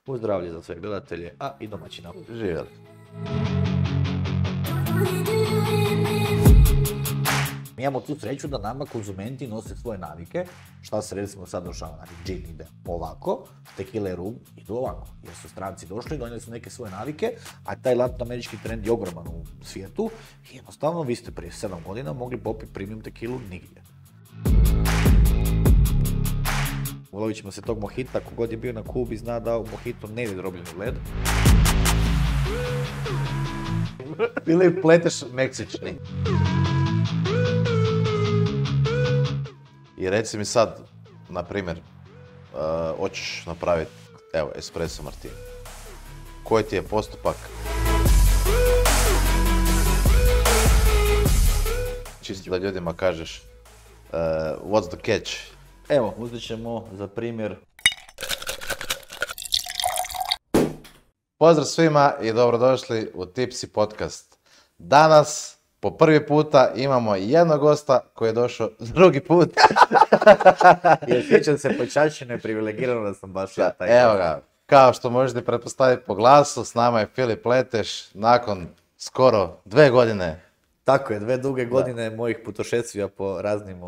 Uz zdravlje za sve gledatelje, a i domaćina. Živjeli. Mi imamo tu sreću da nama konzumenti nose svoje navike, šta se recimo sad došava, znači gin ide ovako, tequila i rum idu ovako, jer su stranci došli, donijeli su neke svoje navike, a taj latinoamerički trend je ogroman u svijetu i jednostavno vi ste prije 7 godina mogli popiti premium tequilu nigdje. Ulovit ćemo se tog mojita, kogod je bio na Kubi zna da u mojitu ne ide drobljeni led. Ili pleteš meksični. I reci mi sad, na primjer, hoćeš napraviti, evo, espresso martini. Koji ti je postupak? Čisto da ljudima kažeš, what's the catch? Evo, uzet ćemo za primjer. Pozdrav svima i dobrodošli u Tipsy podcast. Danas, po prvi puta, imamo jednog gosta koji je došao drugi put. I osjećam se počašćeno i privilegirano da sam baš ja taj. Evo ga, kao što možete pretpostaviti po glasu, s nama je Filip Leteš nakon skoro 2 godine. Tako je, 2 duge godine mojih putošestvija po raznim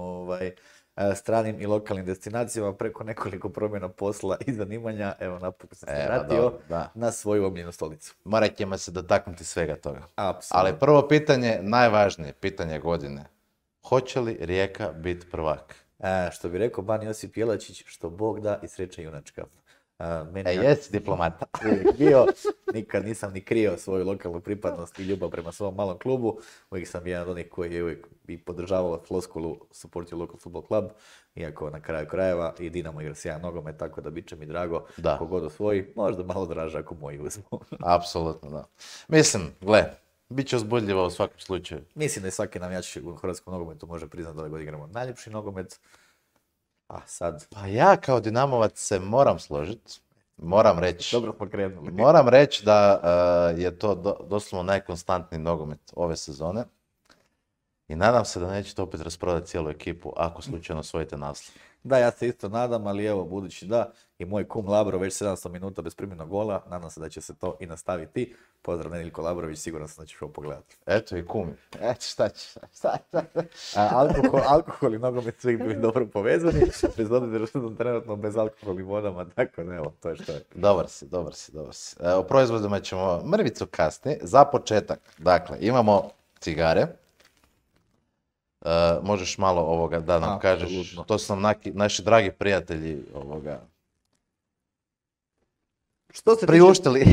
stranim i lokalnim destinacijama preko nekoliko promjena posla i zanimanja. Evo, napokon sam se vratio na svoju omljenu stolicu. Morat ćemo se dotaknuti svega toga. Apsolutno. Ali prvo pitanje, najvažnije pitanje godine. Hoće li Rijeka biti prvak? Što bi rekao Ban Josip Jelačić, što Bog da i sreća junačka. Jesi diplomata. Bio, nikad nisam ni krio svoju lokalnu pripadnost i ljubav prema svom malom klubu. Uvijek sam jedan od onih koji je uvijek i podržavao floskulu Support your local football club, iako na kraju krajeva i Dinamo igra sjajan nogomet, tako da bit će mi drago kogod osvoji, možda malo draže ako moji uzmu. Apsolutno, da. Mislim, gle, bit će uzbudljivo u svakom slučaju. Mislim da je svaki navijač u hrvatskom nogometu može priznati da ovaj god igramo najljepši nogomet. A sad... Pa ja kao Dinamovac se moram složiti, moram reći. Dobro smo krenuli. Moram reći da je to doslovno najkonstantniji nogomet ove sezone. I nadam se da nećete opet rasprodati cijelu ekipu ako slučajno osvojite naslov. Da, ja se isto nadam, ali evo, budući da i moj kum Labro već 700 minuta bez primljenog gola, nadam se da će se to i nastaviti. Pozdrav Nedeljko Labrović, siguran sam da ćeš ovo pogledati. Eto i kumi. Eto šta će. Alkohol i nogomet svi bi dobro povezani, bez obzira što sam trenutno bez alkoholnih vodama, tako da evo, to je što je. Dobar si. O proizvodima ćemo mrvicu kasnije. Za početak, dakle, imamo cigare. Možeš malo ovoga da nam kažeš, to su nam naši dragi prijatelji priuštili.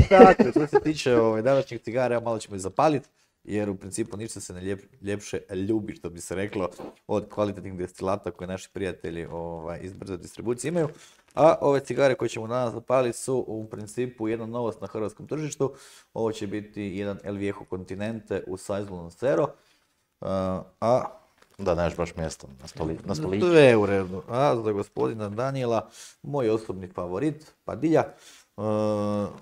Što se tiče današnjih cigara, malo ćemo ih zapaliti, jer u principu ništa se ne ljepše ljubi, što bi se reklo, od kvalitetnih destilata koje naši prijatelji iz brze distribucije imaju. A ove cigare koje ćemo danas zapaliti su u principu jedna novost na hrvatskom tržištu. Ovo će biti jedan El Viejo Continente u Saison Lancero. Da, nemaš baš mjesto na stoliću. To je u redu. A za gospodina Daniela, moj osobni favorit, Padilja,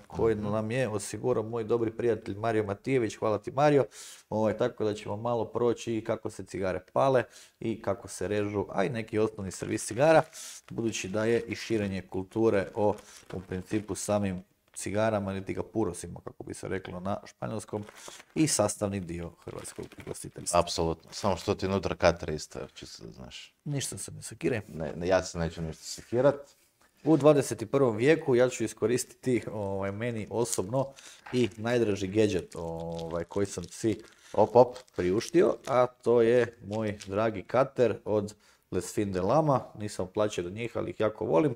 koji nam je osigurao moj dobri prijatelj Mario Matijević, hvala ti Mario, tako da ćemo malo proći i kako se cigare pale i kako se režu, a i neki osnovni servis cigara, budući da je i širenje kulture o u principu samim cigarama ili ga purosima, kako bi se reklo na španjolskom, i sastavni dio hrvatskog ugostiteljstva. Apsolutno, samo što ti unutra katre isto, čisto da znaš. Ništa se ne sekire. Ne, ja se neću ništa sekirat. U 21. vijeku ja ću iskoristiti meni osobno i najdraži gadget koji sam si priuštio, a to je moj dragi kater od Les Fin de Lama. Nisam plaćao do njih, ali ih jako volim,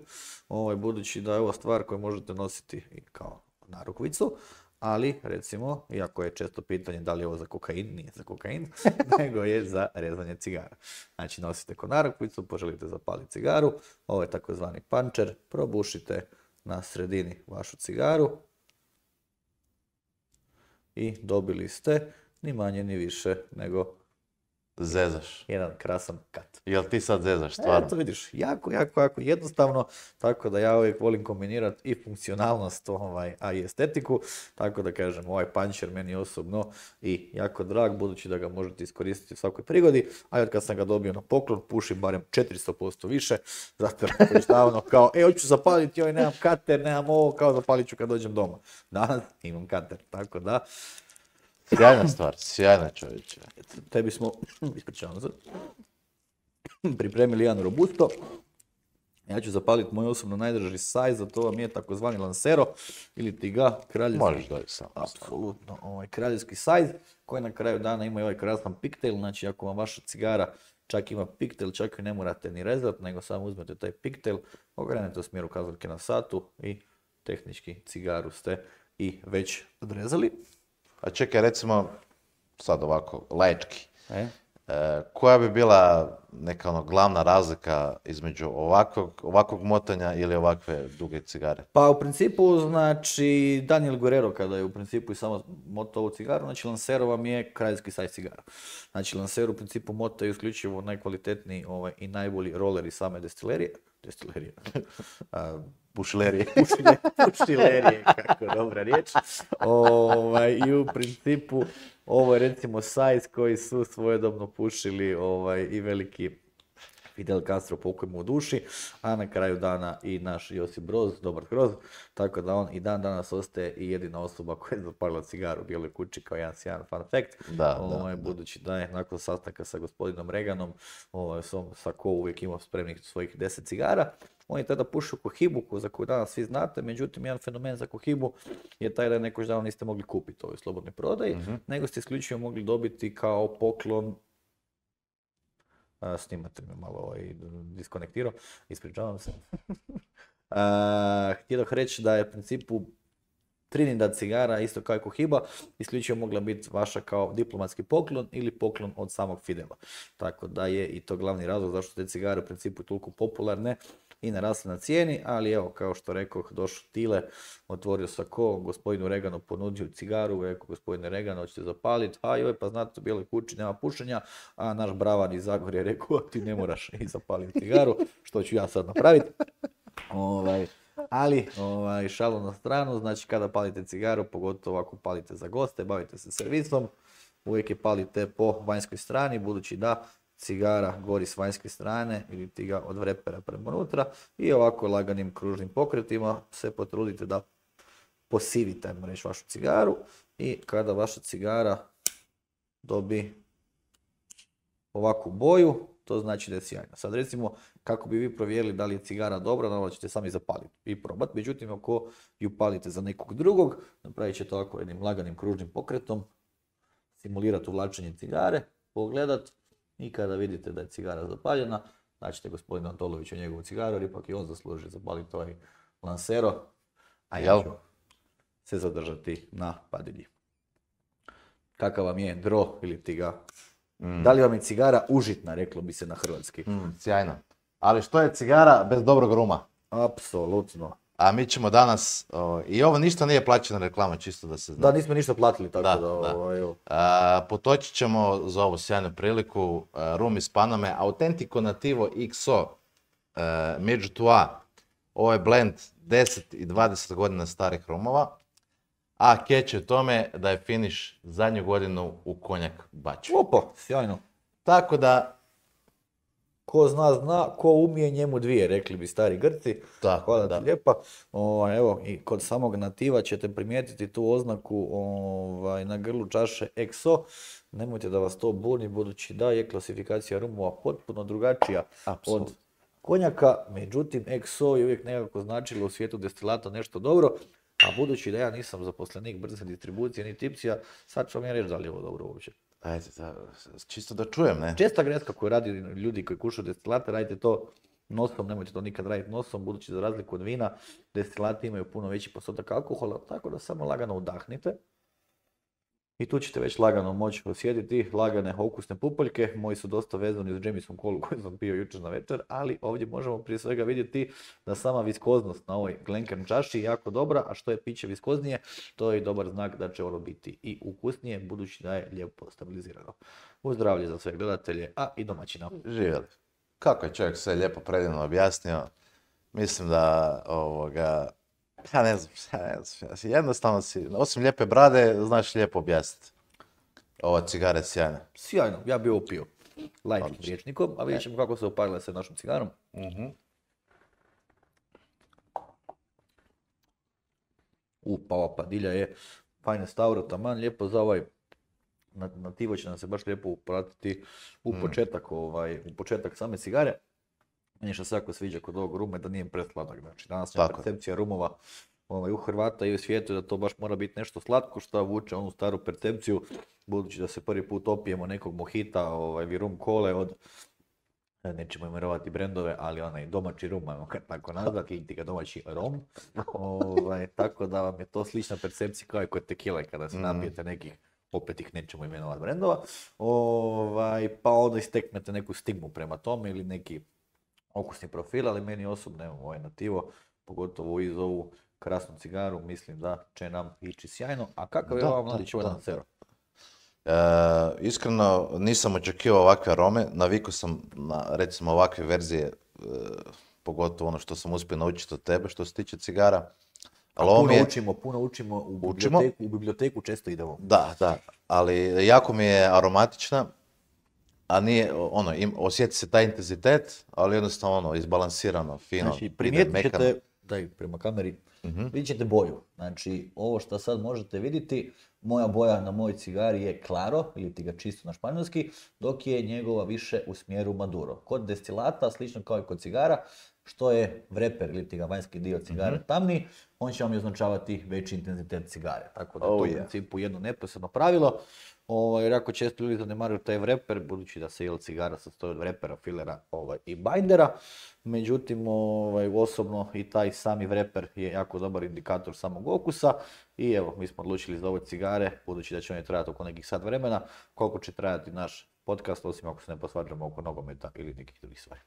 budući da je ovo stvar koju možete nositi i kao narukvicu, ali recimo, iako je često pitanje da li je ovo za kokain, nije za kokain, nego je za rezanje cigara. Znači nosite ko narukvicu, poželite zapaliti cigaru, ovo je takozvani pančer, probušite na sredini vašu cigaru i dobili ste ni manje ni više nego Zezaš. Jedan krasan kat. Jel ti sad zezaš, stvarno? To vidiš, jako jednostavno, tako da ja uvijek volim kombinirati i funkcionalnost, a i estetiku, tako da kažem, ovaj puncher meni osobno i jako drag, budući da ga možete iskoristiti u svakoj prigodi, a od kad sam ga dobio na poklon, pušim barem 400% više, zato je davno kao, hoću zapaliti, nemam kater, nemam ovo, kao zapalit ću kad dođem doma. Danas imam kater, tako da. Sjajna stvar, sjajna čovječe. Tebi smo, ispričavam se, pripremili jedan robusto. Ja ću zapaliti moj osobno najdraži sajz, a to vam je takozvani Lancero, ili ti ga kraljevski. Možeš doći sam. Apsolutno, kraljevski sajz, koji na kraju dana ima i ovaj krasan piktel, znači ako vam vaša cigara čak ima piktel, čak i ne morate ni rezati, nego samo uzmete taj piktel, okrenete u smjeru kazaljke na satu i tehnički cigaru ste i već odrezali. A čekaj, recimo, sad ovako, laički. Koja bi bila neka glavna razlika između ovakvog motanja ili ovakve duge cigare? Pa u principu, znači, Daniel Guerrero kada je u principu i samo motao ovu cigaru, znači Lancero vam je kraljevski sajz cigara. Znači Lancero u principu motaju isključivo najkvalitetniji i najbolji roleri same destilerije. Pušilerije, kako dobra riječ. I u principu ovo je recimo sajz koji su svojedobno pušili i veliki Fidel Castro, pokoj mu u duši, a na kraju dana i naš Josip Broz, dobar Kroz, tako da on i dan danas ostaje i jedina osoba koja je zapalila cigaru u Bijeloj kući kao jedan sjajan fun fact. Budući da je nakon sastanka sa gospodinom Reaganom, Sako uvijek imao spremnih svojih 10 cigara. On je tada pušio Kohibu, za koju danas svi znate, međutim jedan fenomen za Kohibu je taj da nekoć davno niste mogli kupiti u ovoj slobodnoj prodaji, nego ste isključivo mogli dobiti kao poklon. Snimate me malo diskonektirao, ispričavam se. Htio reći da je u principu Trinidad cigara, isto kao i Cohiba, isključivo mogla biti vaša kao diplomatski poklon ili poklon od samog Fidela. Tako da je i to glavni razlog zašto te cigare u principu toliko popularne i narasle na cijeni, ali evo, kao što rekoh, došao Tile, otvorio Sako, gospodinu Reaganu ponudio cigaru, rekao gospodine Reagan, hoćete zapaliti, pa znate, u Bijeloj kući nema pušenja, a naš bravan iz Zagorja je rekao, ti ne moraš i zapaliti cigaru, što ću ja sad napraviti. Ali, šalu na stranu, znači kada palite cigaru, pogotovo ako palite za goste, bavite se servisom, uvijek je palite po vanjskoj strani, budući da cigara gori s vanjske strane ili ti ga od vrepera prema unutra i ovako laganim kružnim pokretima se potrudite da posivite, ajmo reći, vašu cigaru i kada vaša cigara dobi ovakvu boju, to znači da je sjajna. Sad recimo, kako bi vi provjerili da li je cigara dobra, naravno ćete sami zapaliti i probati. Međutim, ako ju palite za nekog drugog, napravit ćete ovako jednim laganim kružnim pokretom, simulirati uvlačenje cigare, pogledat i kada vidite da je cigara zapaljena, značite gospodina Antolovića njegovu cigaru, jer ipak i on zasluži zapaliti ovaj Lancero, a ja ću se zadržati na padilji. Kakav vam je dro ili ti ga? Da li vam je cigara užitna, reklo bi se na hrvatski? Sjajno. Ali što je cigara bez dobrog ruma? Apsolutno. A mi ćemo danas, i ovo ništa nije plaćena reklama, čisto da se zna. Da, nismo ništa platili, tako da. Potočit ćemo za ovu sjajnu priliku rum iz Paname, Autentico Nativo XO, među tua. Ovo je blend 10 i 20 godina starih rumova, a catch je u tome da je finish zadnju godinu u konjak baču. Opa, sjajno. Tako da, ko zna, ko umije njemu dvije, rekli bi stari Grci. Hvala ti lijepa. Evo, i kod samog nativa ćete primijetiti tu oznaku na grlu čaše XO. Nemojte da vas to buni, budući da je klasifikacija rumova potpuno drugačija od konjaka. Međutim, XO je uvijek nekako značilo u svijetu destilata nešto dobro. A budući da ja nisam zaposlenik brze distribucije ni tipcija, sad ću vam ja reći da li je ovo dobro uopće. Ajde, čisto da čujem, ne? Česta greška koju radi ljudi koji kušaju destilate, radite to nosom, nemojte to nikad raditi nosom, budući za razliku od vina, destilati imaju puno veći postotak alkohola, tako da samo lagano udahnite. I tu ćete već lagano moći osjetiti lagane okusne pupoljke. Moji su dosta vezani uz Jameson Colu koju sam pio jučer na večer, ali ovdje možemo prije svega vidjeti da sama viskoznost na ovoj Glencairn čaši je jako dobra, a što je piće viskoznije, to je dobar znak da će ono biti i ukusnije, budući da je lijepo stabilizirano. Uz zdravlje za sve gledatelje, a i domaćina. Živjeli. Kako je čovjek sve lijepo predivno objasnio, mislim da ja ne znam, jednostavno si, osim lijepe brade, znaš lijepo objasniti. Ova cigara je sjajna. Sjajno, ja bi ovo pio light rječnikom, a vidjet ćemo kako se uparila sa našom cigarom. Pa ova padilja je fajne stavro, taman, lijepo za ovaj nativo će nam se baš lijepo upratiti u početak same cigare. Meni što se jako sviđa kod ovog ruma je da nije presladak. Znači, danas je percepcija rumova u Hrvata i u svijetu da to baš mora biti nešto slatko što vuče onu staru percepciju, budući da se prvi put opijemo nekog mohita, rum kole od, nećemo imenovati brendove, ali onaj domaći rum, ajmo tako nazvati, ili ti ga domaći rom. Tako da vam je to slična percepcija kao i kod tekile kada se napijete nekih, opet ih nećemo imenovati brendova, pa onda isteknete neku stigmu prema tome ili neki okusni profil, ali meni osobno, evo, ovaj nativo, pogotovo iz ovu krasnu cigaru, mislim da će nam ići sjajno. A kakav je ovaj mladić ovaj Lancero? Iskreno nisam očekivao ovakve arome, navikao sam na recimo ovakve verzije, pogotovo ono što sam uspio naučiti od tebe što se tiče cigara. Puno učimo, u biblioteku često idemo. Da, ali jako mi je aromatična, a nije, osjeti se taj intenzitet, ali jednostavno izbalansirano, fino. Znači, primijetit ćete, daj prema kameri, vidjet ćete boju. Znači, ovo što sad možete vidjeti, moja boja na mojoj cigari je claro, ili ti ga čisto na španjolski, dok je njegova više u smjeru maduro. Kod destilata, slično kao i kod cigara, što je vreper ili ti ga vanjski dio cigare tamniji, on će vam označavati veći intenzitet cigare. Tako da je to u principu jedno neposredno pravilo. Jer jako često ljudi zanemaruju taj vreper, budući da se cigara sastoji od vrepera, filera i bindera. Međutim, osobno i taj sami vreper je jako dobar indikator samog okusa. I evo, mi smo odlučili za ove cigare, budući da će oni trajati oko nekih sat vremena, koliko će trajati naš podcast, osim ako se ne posvađamo oko nogometa ili nekih drugih stvari.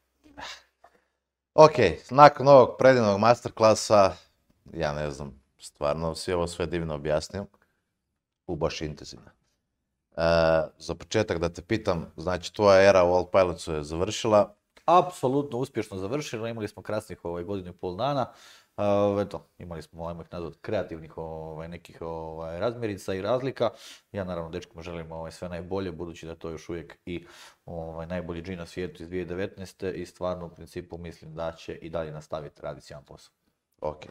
Ok, nakon ovog predivnog masterklasa, ja ne znam, stvarno si ovo sve divno objasnio, baš intenzivno. Za početak da te pitam, znači tvoja era u Old Pilotsu je završila? Apsolutno uspješno završila, imali smo krasnih godinu i pol dana. Imali smo, ajmo ih nazvati, kreativnih nekih razmjerica i razlika. Ja naravno dečkima želim sve najbolje, budući da je to još uvijek i najbolji džin na svijetu iz 2019. I stvarno u principu mislim da će i dalje nastaviti raditi sjajan posao. Ok.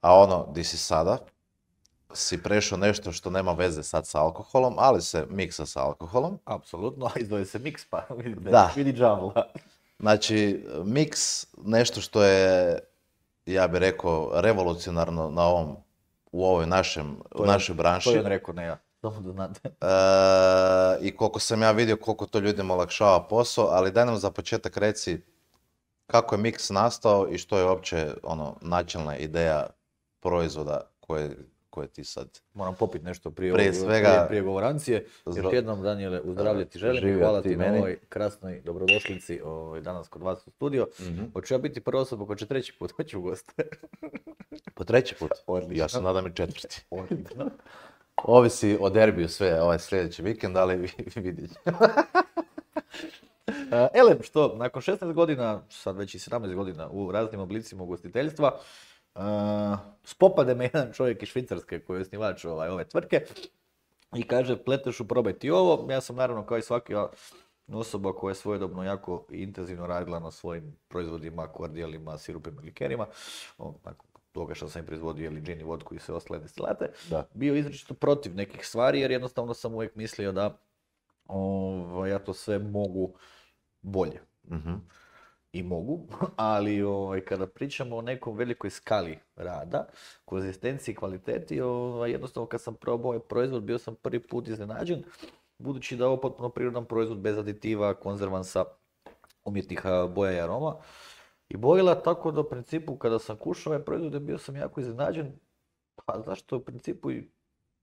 A di si sada? Si prešao nešto što nema veze sad sa alkoholom, ali se miksa sa alkoholom. Apsolutno, a izdvoje se miks, pa vidi džavla. Znači, miks, nešto što je, ja bih rekao, revolucionarno u ovoj našoj branši. To je on rekao, ne ja. Samo da znate. I koliko sam ja vidio, koliko to ljudima olakšava posao, ali daj nam za početak reci kako je miks nastao i što je uopće načelna ideja proizvoda koje ti sad... Moram popiti nešto prije govorancije. Još jednom, Daniele, u zdravlje ti želim. Hvala ti na ovoj krasnoj dobrodošlici danas kod vas u studio. Hoću ja biti prva osoba koja će treći put, hoću u goste. Po treći put? Odlično. Ja se nadam i četvrti. Odlično. Ovisi o derbiju sve sljedeći vikend, ali vidjet ćemo. Elem, što, nakon 16 godina, sad već i 17 godina u raznim oblicima ugostiteljstva, spopade me jedan čovjek iz Švicarske koji je osnivač ove tvrtke i kaže, Pletešu, probaj ti ovo. Ja sam naravno kao i svaka osoba koja je svojedobno jako intenzivno radila na svojim proizvodima, kordijalima, sirupima, likerima, toga što sam im proizvodio džin i vodku i sve ostale destilate, bio izričito protiv nekih stvari jer jednostavno sam uvijek mislio da ja to sve mogu bolje. I mogu, ali kada pričamo o nekom velikoj skali rada, konzistenciji i kvaliteti, jednostavno kad sam probao ovaj proizvod bio sam prvi put iznenađen, budući da je ovo potpuno prirodan proizvod bez aditiva, konzervansa, umjetnih boja i aroma i bojila, tako da u principu kada sam kušao ovaj proizvod bio sam jako iznenađen, pa zašto u principu i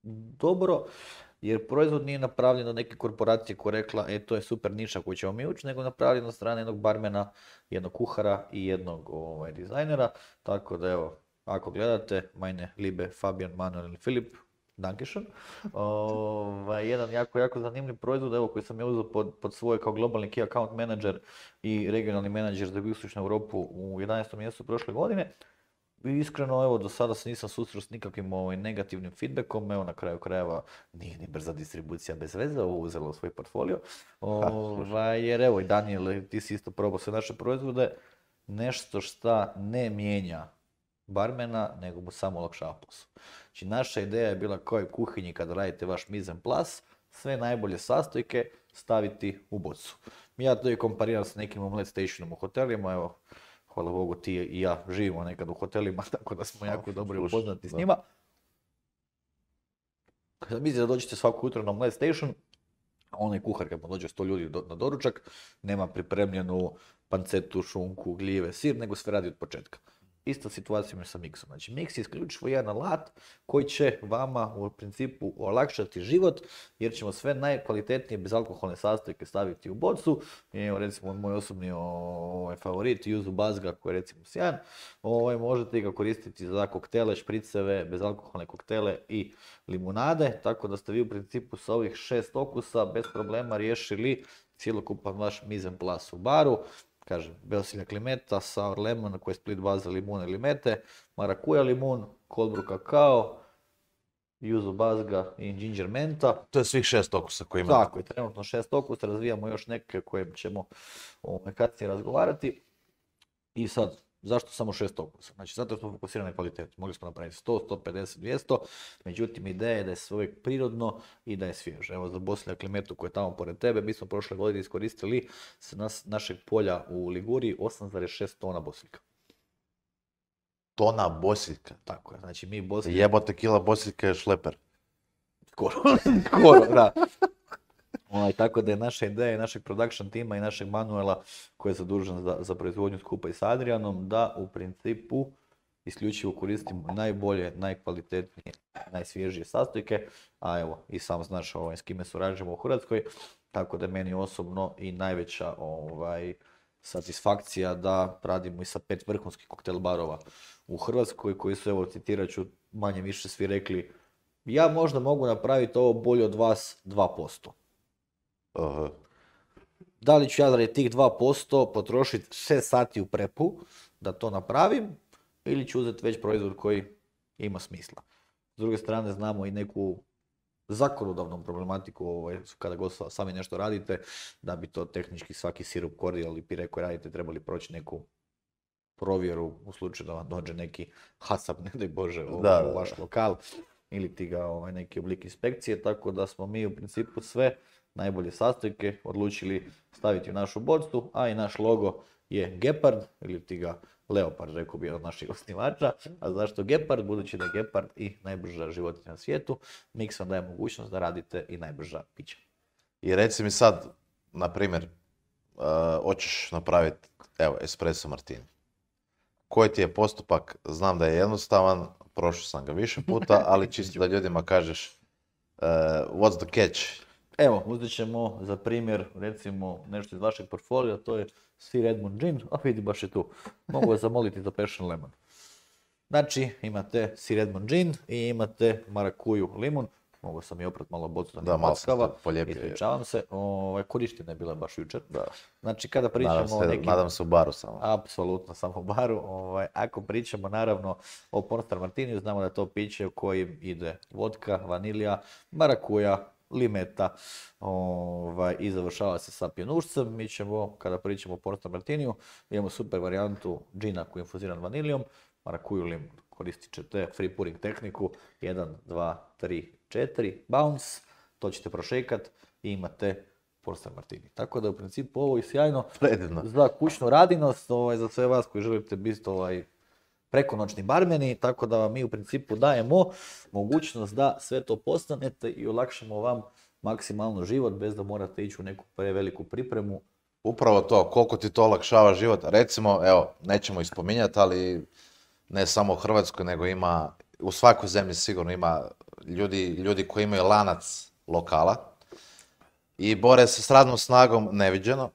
dobro, jer proizvod nije napravljen od neke korporacije koja je rekla, to je super niša koju ćemo mi ući, nego napravljen od strane jednog barmena, jednog kuhara i jednog dizajnera. Tako da evo, ako gledate, meine liebe Fabian, Manuel i Filip, Dankeschön. Jedan jako zanimljiv proizvod, evo, koji sam ja uzeo pod svoje kao globalni key account manager i regionalni menadžer za jugoistočnu Europu u 11. mjesecu prošle godine. I iskreno, evo, do sada se nisam susreo s nikakvim negativnim feedbackom, evo, na kraju krajeva nije ni brza distribucija bez veze, ovo uzelo u svoj portfolio. Jer evo, i Daniel, ti si isto probao sve naše proizvode, nešto šta ne mijenja barmena, nego mu samo olakšava posao. Znači, naša ideja je bila kao i kuhinji kada radite vaš mise en place, sve najbolje sastojke staviti u bocu. Ja to i kompariram s nekim omelet stationom u hotelima, evo, hvala Bogu, ti i ja živimo nekad u hotelima, tako da smo jako dobro upoznati s njima. Mislite da dođete svako jutro na omelet station, onaj kuhar kad mu dođe 100 ljudi na doručak, nema pripremljenu pancetu, šunku, gljive, sir, nego sve radi od početka. Ista situacija je sa miksom. Znači, miks je isključivo jedan alat koji će vama u principu olakšati život, jer ćemo sve najkvalitetnije bezalkoholne sastojke staviti u bocu. I evo, recimo, moj osobni favorit, yuzu bazga, koji je recimo sjajan. Možete ga koristiti za koktele, špriceve, bezalkoholne koktele i limunade, tako da ste vi u principu sa ovih 6 okusa bez problema riješili cjelokupan vaš mise en place u baru. Kažem, belsiljak limeta, sour lemon, koji je split baza limune limete, marakuja limun, cold brew kakao, yuzu bazga i ginger menta. To je svih 6 okusa koji imamo. Tako je, trenutno 6 okusa, razvijamo još neke koje ćemo kasnije razgovarati. I sad, zašto samo 6 okusa? Znači, zato smo fokusirani na kvalitetu. Mogli smo napraviti 100, 150, 200, međutim, ideja je da je sve uvijek prirodno i da je svježe. Evo, za bosiljak limetu koji je tamo pored tebe, mi smo prošle godine iskoristili sa našeg polja u Liguriji 8,6 tona bosiljka. Tona bosiljka? Tako je, znači mi bosiljka... Jebote, kila bosiljka je šleper. Skoro, da. Tako da je naša ideja i našeg production tima i našeg Manuela, koji je zadužen za proizvodnju skupa i s Adrianom, da u principu isključivo koristimo najbolje, najkvalitetnije, najsvježije sastojke, a evo i sam znaš s kime surađujemo u Hrvatskoj, tako da je meni osobno i najveća satisfakcija da radimo i sa 5 vrhunskih koktel barova u Hrvatskoj, koji su, evo, citirat ću, manje više svi rekli, ja možda mogu napraviti ovo bolje od vas 2%. Uh-huh. Da li ću ja radi tih 2% potrošiti 6 sati u prepu da to napravim, ili ću uzeti već proizvod koji ima smisla. S druge strane, znamo i neku zakonodavnu problematiku kada god sami nešto radite, da bi to tehnički svaki sirup, kordial i pire koji radite trebali proći neku provjeru u slučaju da vam dođe neki hasap, ne daj Bože, u vaš lokal, ili ti ga neki oblik inspekcije, tako da smo mi u principu sve najbolje sastojke odlučili staviti u našu bocu, a i naš logo je gepard, ili ti ga leopard, rekao bi od naših osnivača. A zašto gepard? Budući da je gepard i najbrža životinja na svijetu, Mix vam daje mogućnost da radite i najbrža pića. I reci mi sad, na primjer, hoćeš napraviti, evo, espresso martini. Koji ti je postupak? Znam da je jednostavan, prošao sam ga više puta, ali čisto da ljudima kažeš, what's the catch? Evo, uzet ćemo za primjer, recimo, nešto iz vašeg portfolija, to je Sir Edmund Gin, a vidi, baš je tu. Mogu vas zamoliti za Passion Lemon. Znači, imate Sir Edmund Gin i imate marakuju limun. Mogu sam i oprat malo bocu da ne paskava. Ispričavam se, korištenja je bila baš jučer. Da. Znači, kada pričamo o nekim... Nadam se u baru samo. Apsolutno, samo u baru. Ako pričamo, naravno, o Pornstar Martiniju, znamo da je to piće u kojim ide vodka, vanilija, marakuja, limeta i završava se sa pjenušcem. Mi ćemo, kada pričamo o Pornstar Martiniju, imamo super varijantu džina koji je infuziran vanilijom, marakuju limun. Koristit ćete free pouring tehniku, 1, 2, 3, 4, bounce, to ćete prošekat i imate Pornstar Martini. Tako da u principu ovo je sjajno za kućnu radinost, za sve vas koji želite biti prekonoćni barmeni, tako da vam mi u principu dajemo mogućnost da sve to postanete i olakšamo vam maksimalno život bez da morate ići u neku preveliku pripremu. Upravo to, koliko ti to olakšava život. Recimo, evo, nećemo ih spominjati, ali ne samo u Hrvatskoj, nego ima, u svakoj zemlji sigurno ima ljudi koji imaju lanac lokala i bore se s radnom snagom neviđeno.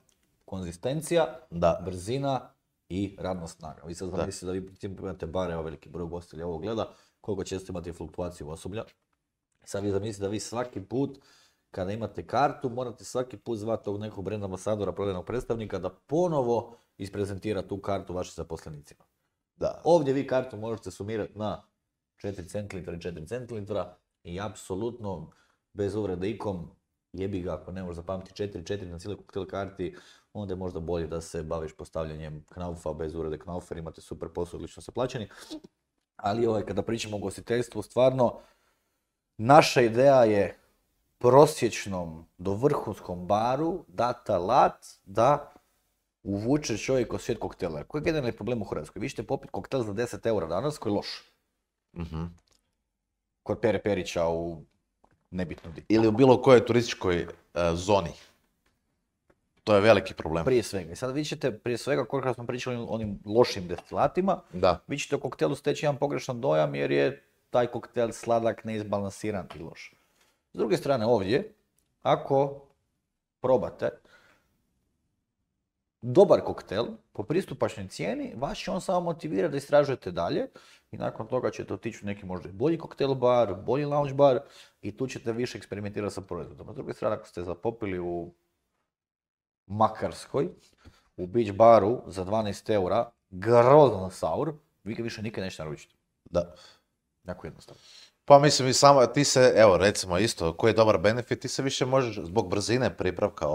Konzistencija, Da. brzina i radna snaga. Vi sad zamislite da vi u principu imate bar, evo veliki broj gostilja ovo gleda, koliko često imate fluktuaciju osoblja. Sad vi zamislite da vi svaki put, kada imate kartu, morate svaki put zvati tog nekog brand ambasadora, prodajnog predstavnika, da ponovo isprezentira tu kartu vašim zaposlenicima. Da. Ovdje vi kartu možete sumirati na 4 centilitra i 4 centilitra i apsolutno, bez uvrede ikom, jebi ga ako ne možeš zapamtiti 4 na cijeloj koktel karti, onda je možda bolje da se baviš postavljanjem knaufa, bez urede knaufer, imate super posao, odlično ste plaćeni. Ali kada pričamo o ugostiteljstvu, stvarno, naša ideja je prosječnom do vrhunskom baru dati alat da uvuče čovjek u svijet koktela. Koji je generalni problem u Hrvatskoj? Vi ćete popiti koktel za 10 eura danas koji je loš. Kod Pere Perića u nebitno di. Ili u bilo kojoj turističkoj zoni. To je veliki problem. Prije svega. I sad vi ćete, prije svega, koliko smo pričali o onim lošim destilatima, Da. vi ćete o koktelu steći jedan pogrešan dojam jer je taj koktel sladak, neizbalansiran i loš. S druge strane ovdje, ako probate dobar koktel po pristupačnoj cijeni, vas će on samo motivirati da istražujete dalje i nakon toga ćete otići u neki možda i bolji koktel bar, bolji lounge bar i tu ćete više eksperimentirati sa proizvodom. S druge strane, ako ste zapopili u Makarskoj, u beach baru za 12 eura, grozan sour, vi ga više nikad nećete naručiti. Da. Jako jednostavno. Pa mislim i samo, ti se, evo recimo isto, koji je dobar benefit, ti se više možeš zbog brzine pripravka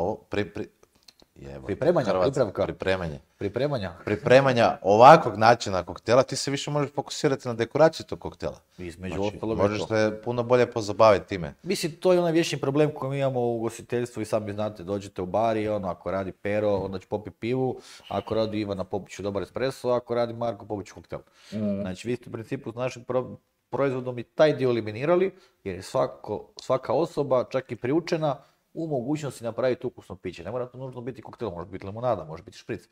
pripremanja ovakvog načina koktela, ti se više možeš fokusirati na dekoraciju tog koktela. Između Znači, ostalog možeš se puno bolje pozabaviti time. Mislim, to je onaj vječni problem koji mi imamo u ugostiteljstvu i sami znate, dođete u bar i ako radi Pero, onda će popiti pivu, ako radi Ivana popit ću dobar espresso, ako radi Marko popit ću koktel. Znači, vi ste u principu s našim proizvodom i taj dio eliminirali, jer je svaka osoba, čak i priučena, u mogućnosti napraviti ukusno piće. Ne mora to nužno biti koktel, može biti limonada, može biti špric.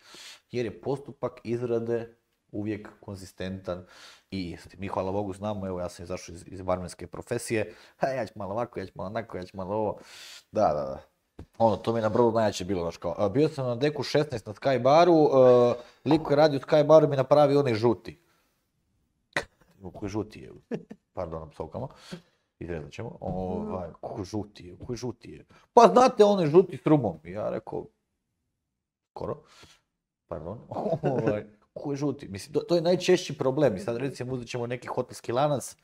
Jer je postupak izrade uvijek konzistentan i isti. Mi, hvala Bogu, znamo, evo ja sam izašao iz barmenske profesije, ja ću malo ovako, ja ću malo onako, ja ću malo ovo. Da. To mi je na brodu najjače bilo. Bio sam na deku 16 na Sky baru, lik koji radi u Sky baru mi napravi onaj žuti. Koji žuti je? Pardon, psovkama. Izrezat ćemo. Koji žuti je? Pa znate, on je žuti s rumom. I ja rekao, skoro. Pardon. Koji žuti? Mislim, to je najčešći problem. I sad recimo uzet ćemo neki hotelski lanac.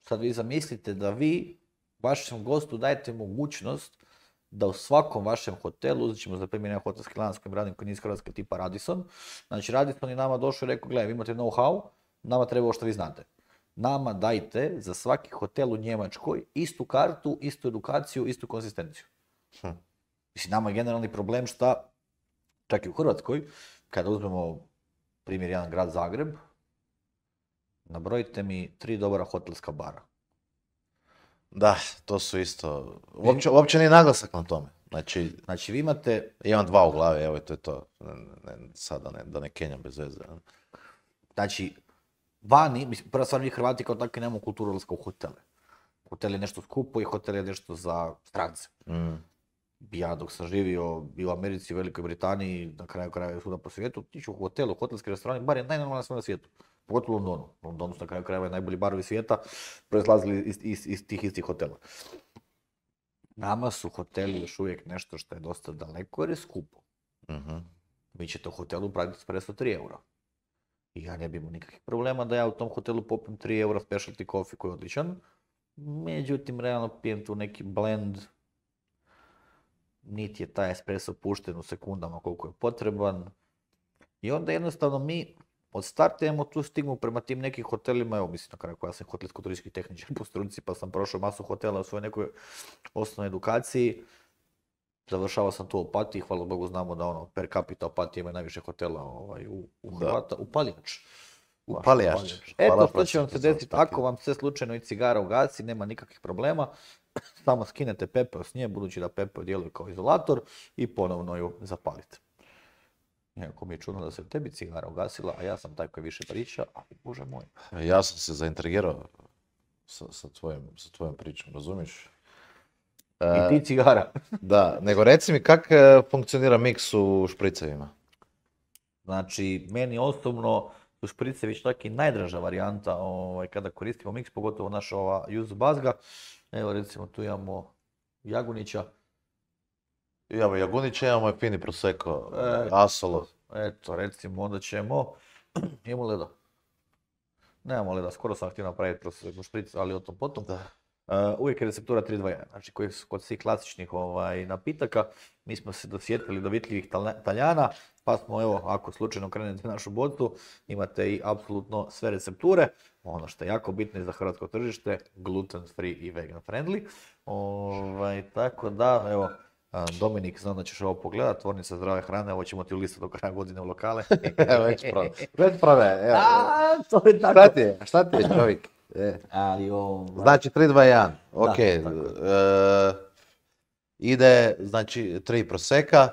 Sad vi zamislite da vi vašem gostu dajete mogućnost da u svakom vašem hotelu, uzet ćemo za primjer jedan hotelski lanac kojim radim koji nije iz Hrvatske tipa Radisson. Znači Radisson je nama došao i rekao, gledaj, vi imate know-how, nama treba ovo što vi znate. Nama dajte za svaki hotel u Njemačkoj istu kartu, istu edukaciju, istu konzistenciju. Mislim, nama je generalni problem šta, čak i u Hrvatskoj, kada uzmemo primjer jedan grad Zagreb, nabrojite mi 3 dobra hotelska bara. Da, to su isto, uopće nije naglasak na tome. Znači vi imate... Imam 2 u glavi, evo to je to. Sada da ne kenjam bez veze. Znači, vani, mislim, prva stvar mi Hrvati kao takvi nemamo kulturu odlaska u hotele. Hotel je nešto skupo i hotel je nešto za strance. Ja dok sam živio i u Americi, i u Velikoj Britaniji, na kraju krajeva svuda po svijetu, tiču u hotelu, hotelski restoran, bar je najnormalnija stvar na svijetu. Pogotovo u Londonu. U Londonu su na kraju krajeva najbolji barovi svijeta proizlazili iz tih istih hotela. Nama su hoteli još uvijek nešto što je dosta daleko jer je skupo. Vi ćete u hotelu pratiti espresso 3 eura. I ja ne bi imao nikakvih problema da ja u tom hotelu popijem 3 eura specialty coffee koji je odličan. Međutim, realno pijem tu neki blend. Niti je taj espresso pušten u sekundama koliko je potreban. I onda jednostavno mi od starta imamo tu stigmu prema tim nekim hotelima. Evo, mislim na kraju koja sam hotelsko-turistički tehničar po struci, pa sam prošao masu hotela u svojoj nekoj osnovnoj edukaciji. Završavao sam tu u Opatiji, hvala Bogu znamo da per capita Opatija ima najviše hotela u Hrvata, u Paljač. U Paljač. Eto što će vam se desiti, ako vam se slučajno i cigara ugasi, nema nikakvih problema, samo skinete pepeo s nje, budući da pepeo djeluje kao izolator i ponovno ju zapalite. Iako mi je čudno da se tebi cigara ugasila, a ja sam taj koji više priča, ali bože moj. Ja sam se zaintrigirao sa tvojom pričom, razumiješ? I ti cigara. Da, nego reci mi kak funkcionira miks u špricevima? Znači, meni osobno su špricevi čak i najdraža varijanta kada koristimo miks, pogotovo naša ova Yuzu Bazga. Evo recimo tu imamo Jagunića. Imamo Jagunića, imamo je fini Prosecco, Asolo. Eto, recimo onda ćemo, imamo leda. Nemamo leda, skoro sam htio napraviti Prosecco špric, ali o tom potom. Da. Uvijek je receptura 3-2-1, znači koji su kod svih klasičnih napitaka, mi smo se dosjetili do vitljivih Taljana, pa smo evo, ako slučajno krenete našu bocu, imate i apsolutno sve recepture, ono što je jako bitno i za hrvatsko tržište, gluten free i vegan friendly, tako da, evo, Dominik, znam da ćeš ovo pogledat, tvornica zdrave hrane, ovo ćemo ti ulistati do kraja godine u lokale. Već prave, evo. To je tako. Šta ti je čovjek? Ali Znači 3-2-1, ok. Ide, znači 3 proseka,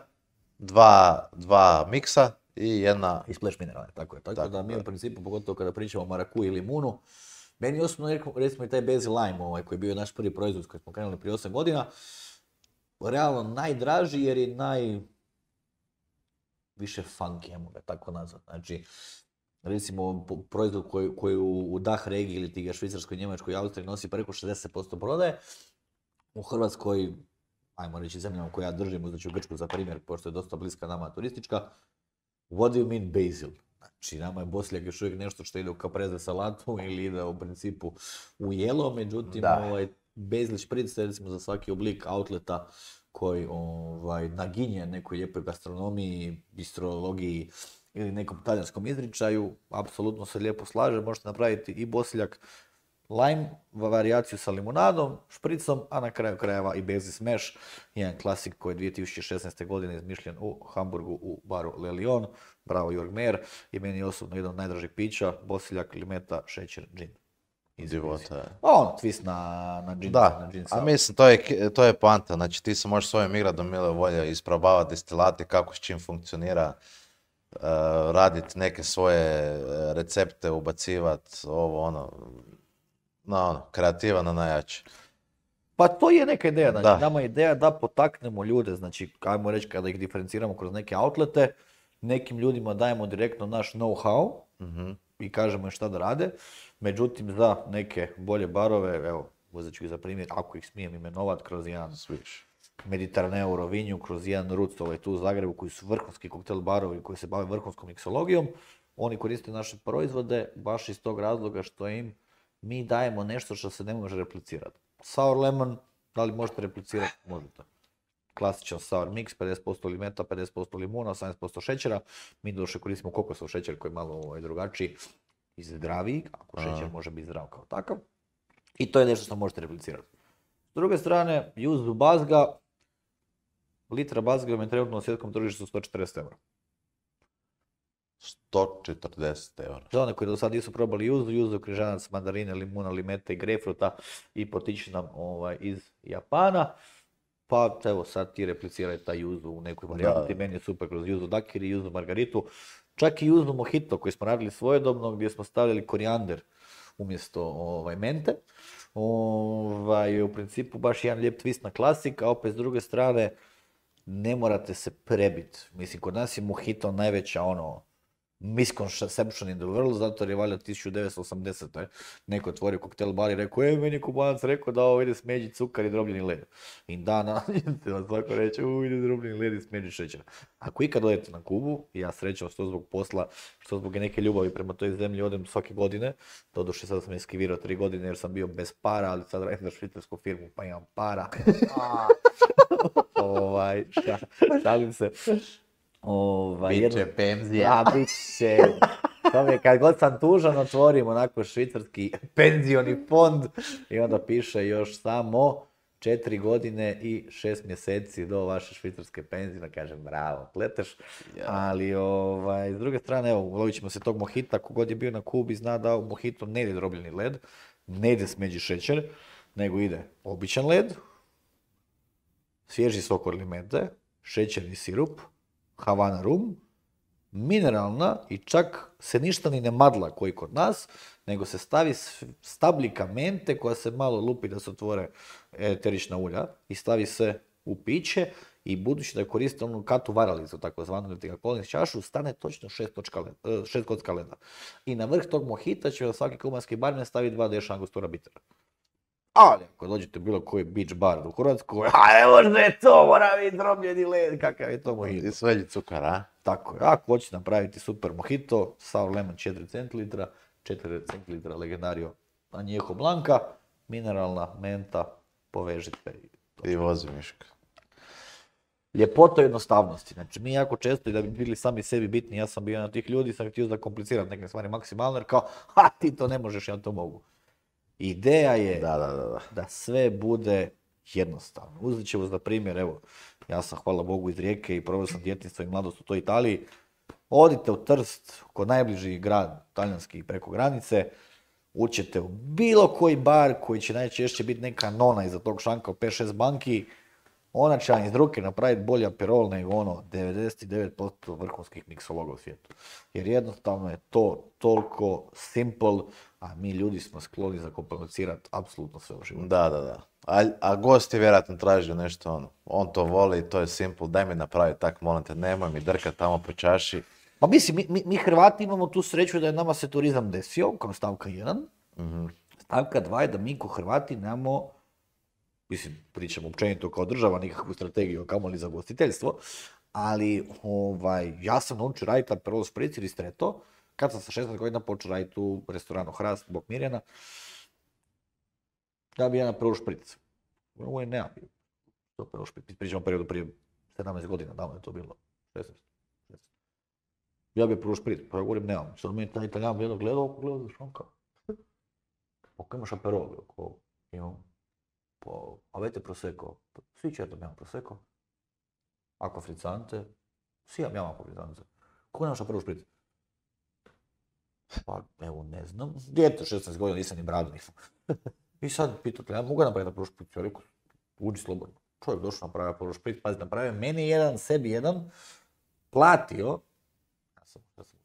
2 miksa i jedna... I splash minerale, tako je. Tako da mi u principu, pogotovo kada pričamo o marakuji i limunu, meni osobno recimo i taj basil lime koji je bio naš prvi proizvod koji smo krenuli prije 8 godina, realno najdraži jer je više funky, ajmo ga tako nazvat. Znači, recimo proizvod koji u DAH regiji ili ti ga Švicarskoj, Njemačkoj i Austriji nosi preko 60% prodaje, u Hrvatskoj, ajmo reći zemljama koje ja držim, uzet ću Grčku za primjer, pošto je dosta bliska nama turistička, what do you mean basil? Znači, nama je bosiljak još uvijek nešto što ide u kapreze salatu ili ide u principu u jelo, međutim, basil špric je recimo za svaki oblik outleta koji naginje nekoj lijepoj gastronomiji, bistrologiji ili nekom talijanskom izričaju, apsolutno se lijepo slaže, možete napraviti i bosiljak lime, varijaciju sa limunadom, špricom, a na kraju krajeva i basil smash, jedan klasik koji je 2016. godine izmišljen u Hamburgu u baru Le Lion, bravo Jörg Mehr, i meni je osobno jedan od najdražih pića, bosiljak, limeta, šećer, džin. Divota. Twist na džin. Da, a mislim, to je poanta, znači ti se možeš svojim igradom mile volje isprobavati destilati, kako s čim funkcionira, raditi neke svoje recepte, ubacivati, kreativa na najjače. Pa to je neka ideja, znači nama je ideja da potaknemo ljude, znači ajmo reći kada ih diferenciramo kroz neke outlete, nekim ljudima dajemo direktno naš know-how i kažemo im šta da rade, međutim za neke bolje barove, evo uzet ću ih za primjer, ako ih smijem imenovat, kroz jedan Mediteraneo Rovinju, kroz jedan Ruc tu u Zagrebu koji su vrhunski koktel barovi koji se bave vrhunskom miksologijom, oni koriste naše proizvode baš iz tog razloga što im mi dajemo nešto što se ne može replicirati. Sour lemon, da li možete replicirati? Možete. Klasičan sour mix, 50% limeta, 50% limuna, 18% šećera. Mi došle koristimo kokosov šećer koji je malo drugačiji i zdraviji, ako šećer može biti zdrav kao takav. I to je nešto što možete replicirati. S druge strane, Yuzu Bazga, litra Bazga je trenutno na svjetskom tržištu 140 eura. 140 eura. Za one koji do sad nisu probali Yuzu, križanac, mandarine, limuna, limete i grejpfruta i potiče nam iz Japana. Pa evo sad ti repliciraj taj Yuzu u nekoj varijanti, meni je super kroz Yuzu Dakiri, Yuzu Margaritu, čak i Yuzu Mojito koji smo radili svojedobno gdje smo stavljali korijander umjesto mente. U principu baš jedan lijep twist na klasik, a opet s druge strane ne morate se prebiti. Mislim, kod nas je Mojito najveća misconception in the world, zato je valjda 1980. Neko otvorio koktel bar i rekao, meni je Kubanac rekao da ovo ide smeđi cukar i drobljeni led. I dana, svako reče, ide drobljeni led i smeđi šećer. Ako ikad odete na Kubu, ja srećam što zbog posla, što zbog neke ljubavi prema toj zemlji odem svake godine, doduše sad sam eskivirao 3 godine jer sam bio bez para, ali sad radim za švicarsku firmu pa imam para. Šalim se. Biće penzija. Biće. Kad god sam tužan, otvorim onako švicarski penzioni fond i onda piše još samo 4 godine i 6 mjeseci do vaše švicarske penzije, da kažem bravo, pleteš. Ali s druge strane, evo, ulovit ćemo se tog Mojita, kogod je bio na Kubi zna da u Mojito ne ide drobljeni led, ne ide smeđi šećer, nego ide običan led, svježi sok od limente, šećerni sirup, Havana rum mineralna i čak se ništa ni ne madla koji kod nas, nego se stavi stabljika mente koja se malo lupi da se otvore eterična ulja i stavi se u piće i budući da koriste onu katu varalicu, takozvanu, ili ti ga kolniš čašu, stane točno 6 kocka leda. I na vrh tog mohita će svaki kubanski barmen stavi 2 deša angostura bitera. Ali ako dođete u bilo koji beach bar u Hrvatskoj, a ne može to, mora biti drobljeni led, kakav je to mojito. I svelji cukar, a? Tako je, ako hoćete napraviti super mojito, sour lemon 4 centilitra, 4 centilitra legendario añejo blanca, mineralna menta, povežite. I vozi Miška. Ljepota jednostavnosti, znači mi jako često i da bi bili sami sebi bitni, ja sam bio jedan od tih ljudi, sam htio zakomplicirat neke stvari maksimalno, jer kao, ti to ne možeš, ja to mogu. Ideja je da sve bude jednostavno. Uzet ćemo za primjer, evo, ja sam hvala Bogu iz Rijeke i proveo sam djetinjstvo i mladost u toj Italiji. Odite u Trst, kod najbliži grad talijanski preko granice, uđete u bilo koji bar koji će najčešće biti neka nona iza tog šanka u 5-6 banki, ona će vam iz ruke napraviti bolji aperol nego 99% vrhunskih miksologa u svijetu. Jer jednostavno je to toliko simple, a mi ljudi smo skloni zakomplicirati apsolutno sve u životu. Da. A gost je vjerojatno tražio nešto on to voli, to je simple, daj mi napravi tak, molim te, nemoj mi drkat tamo po čaši. Pa mislim, mi Hrvati imamo tu sreću da je nama se turizam desio, kao stavka 1. Stavka 2 je da mi ko Hrvati nemamo, mislim, pričamo općenito kao država, nikakvu strategiju, kamoli za gostiteljstvo, ali ja sam naučio raditi aperol spritz i ristretto, kad sam sa 16 godina počeo raditi u restoranu Hrast, Bog Mirjana, da bi jedan aperol špric. Ovo je nemam bio. Aperol špric, pričamo periodu prije 17 godina, davno je to bilo, 16. Ja bi aperol špric, pa ja govorim nemam. Sad mi je taj Italijan gledao šanka. Ako imaš aperol, imam. Avete prosecco? Sì, certo abbiamo prosecco. Acqua frizzante? Sì, abbiamo acqua frizzante. Kako nemaš aperol špric? Pa, evo, ne znam. Dijete 16 godina, nisam ni bradu nisam. I sad pitate, ja mogu napraviti aperol špric? Ja rekao, uđi slobodno. Čovjek došao napravio aperol špric, pazi, napravio meni jedan, sebi jedan, platio.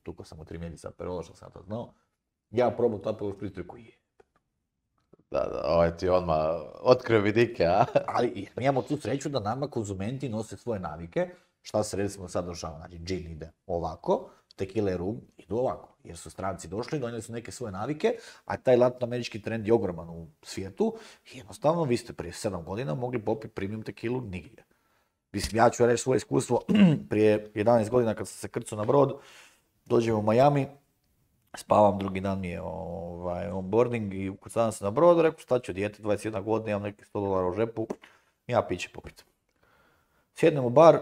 Tukao sam u 3 mjeseca aperola, što sam to znao. Ja probao to aperol špric, rekao je. Da, ovaj ti odmah otkrio vidike, a? Ali mi imamo tu sreću da nama konzumenti nose svoje navike. Šta se recimo sad došava, znači džin ide ovako, tequila i rum idu ovako. Jer su stranci došli, donijeli su neke svoje navike, a taj latinoamerički trend je ogroman u svijetu. I jednostavno vi ste prije 7 godina mogli popiti premium tekilu nigdje. Mislim, ja ću reći svoje iskustvo, prije 11 godina kad sam se krcao na brod, dođem u Miami, spavam, drugi dan mi je onboarding i ukucavam se na brodu, rekao šta ću, dijete 21 godina, imam neki $100 u žepu, ja piće popit. Sjednem u bar,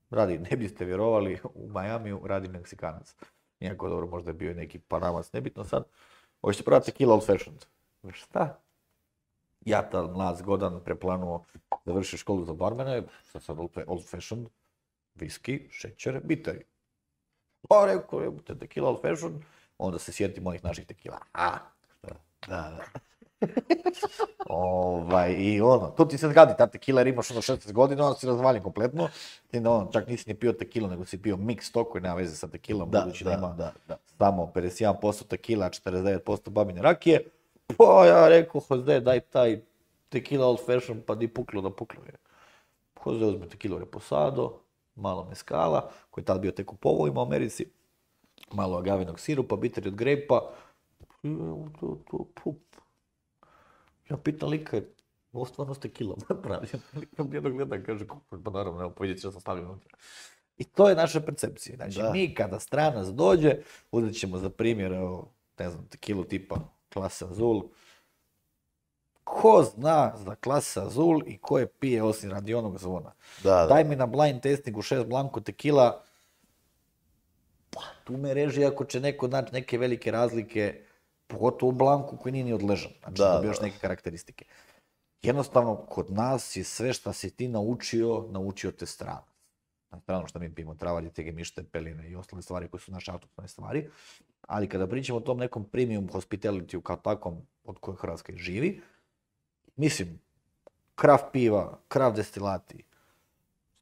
radi, ne biste vjerovali, u Miamiju radi Meksikanac. Iako dobro, možda je bio neki Panamac, nebitno sad. Hoćete probati tequila old fashioned. Šta? Ja tad mlad zgodan preplanuo završio školu za barmene, sad old fashioned, viski, šećer, biteri. Pa rekao, tequila old fashioned, onda se sjetim onih naših tequila. Da. I to ti se zgadi, ta tequila jer imaš 16 godina, onda si razvaljen kompletno. Čak nisi ni pio tequila, nego si pio mix to koji nema veze sa tequilom, budući da ima samo 51% tequila, 49% babine rakije. Pa ja rekao, Jose, daj taj tequila old fashion, pa di puklo da puklo je. Jose uzme tequila reposado, malo meskala, koji je tad bio tek u povojima u Americi, malo agavinog sirupa, biteri od grejpa. Ja pitam lika, ovo stvarno s tequilom napravljeno. Lika mi jednog gleda, kaže, pa naravno, evo, vidjet ću da sam stavio unutra. I to je naša percepcija. Znači, mi kada stranac dođe, uzet ćemo za primjer, evo, ne znam, tequilu tipa Clase Azul. Ko zna za Clase Azul i ko je pije osim radi onog zvona? Daj mi na blind testingu 6 blanko tequila, pa tu me reži ako će neko naći neke velike razlike, pogotovo u blanku koji nije ni odležan, znači da bi još neke karakteristike. Jednostavno, kod nas je sve što si ti naučio te strane. Na stranu što mi pijemo travalje, tege mište, peline i ostale stvari koje su naše autohtone stvari. Ali kada pričamo o tom nekom premium hospitalityu kao takvom od koje Hrvatska živi, mislim, kraft piva, kraft destilati,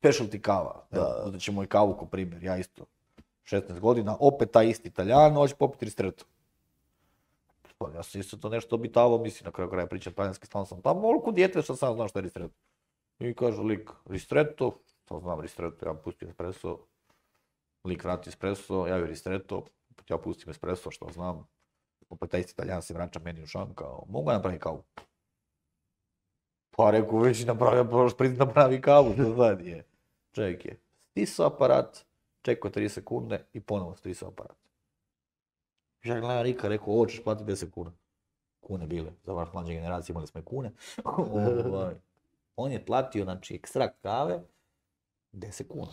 specialty kava. Uzet ćemo i kavu ko primjer, ja isto. 16 godina, opet taj isti Italijan, hoće popiti ristretto. Pa ja sam isto to nešto obitavao, mislim, na kraju kraja pričam talijanski, stalno sam tamo, oliko dijete što sam znao što je ristretto. I kaže lik, ristretto, to znam ristretto, ja pustim espresso, lik vrati espresso, ja joj ristretto, opet ja pustim espresso što znam. Opet taj isti Italijan se vraća meni u šan kao, mogu ja napraviti kavu? Pa rekao, već napravio, moraš priti napravi kavu, što sad je. Čovjek je stisao aparat, čekao 3 sekunde i ponovo stisao aparat. Ja gledam Rika, rekao, ovo ćeš platiti 10 kuna. Kune bile, za vaš mlađe generacije imali smo i kune. On je platio, znači, ekstrakt kave 10 kuna.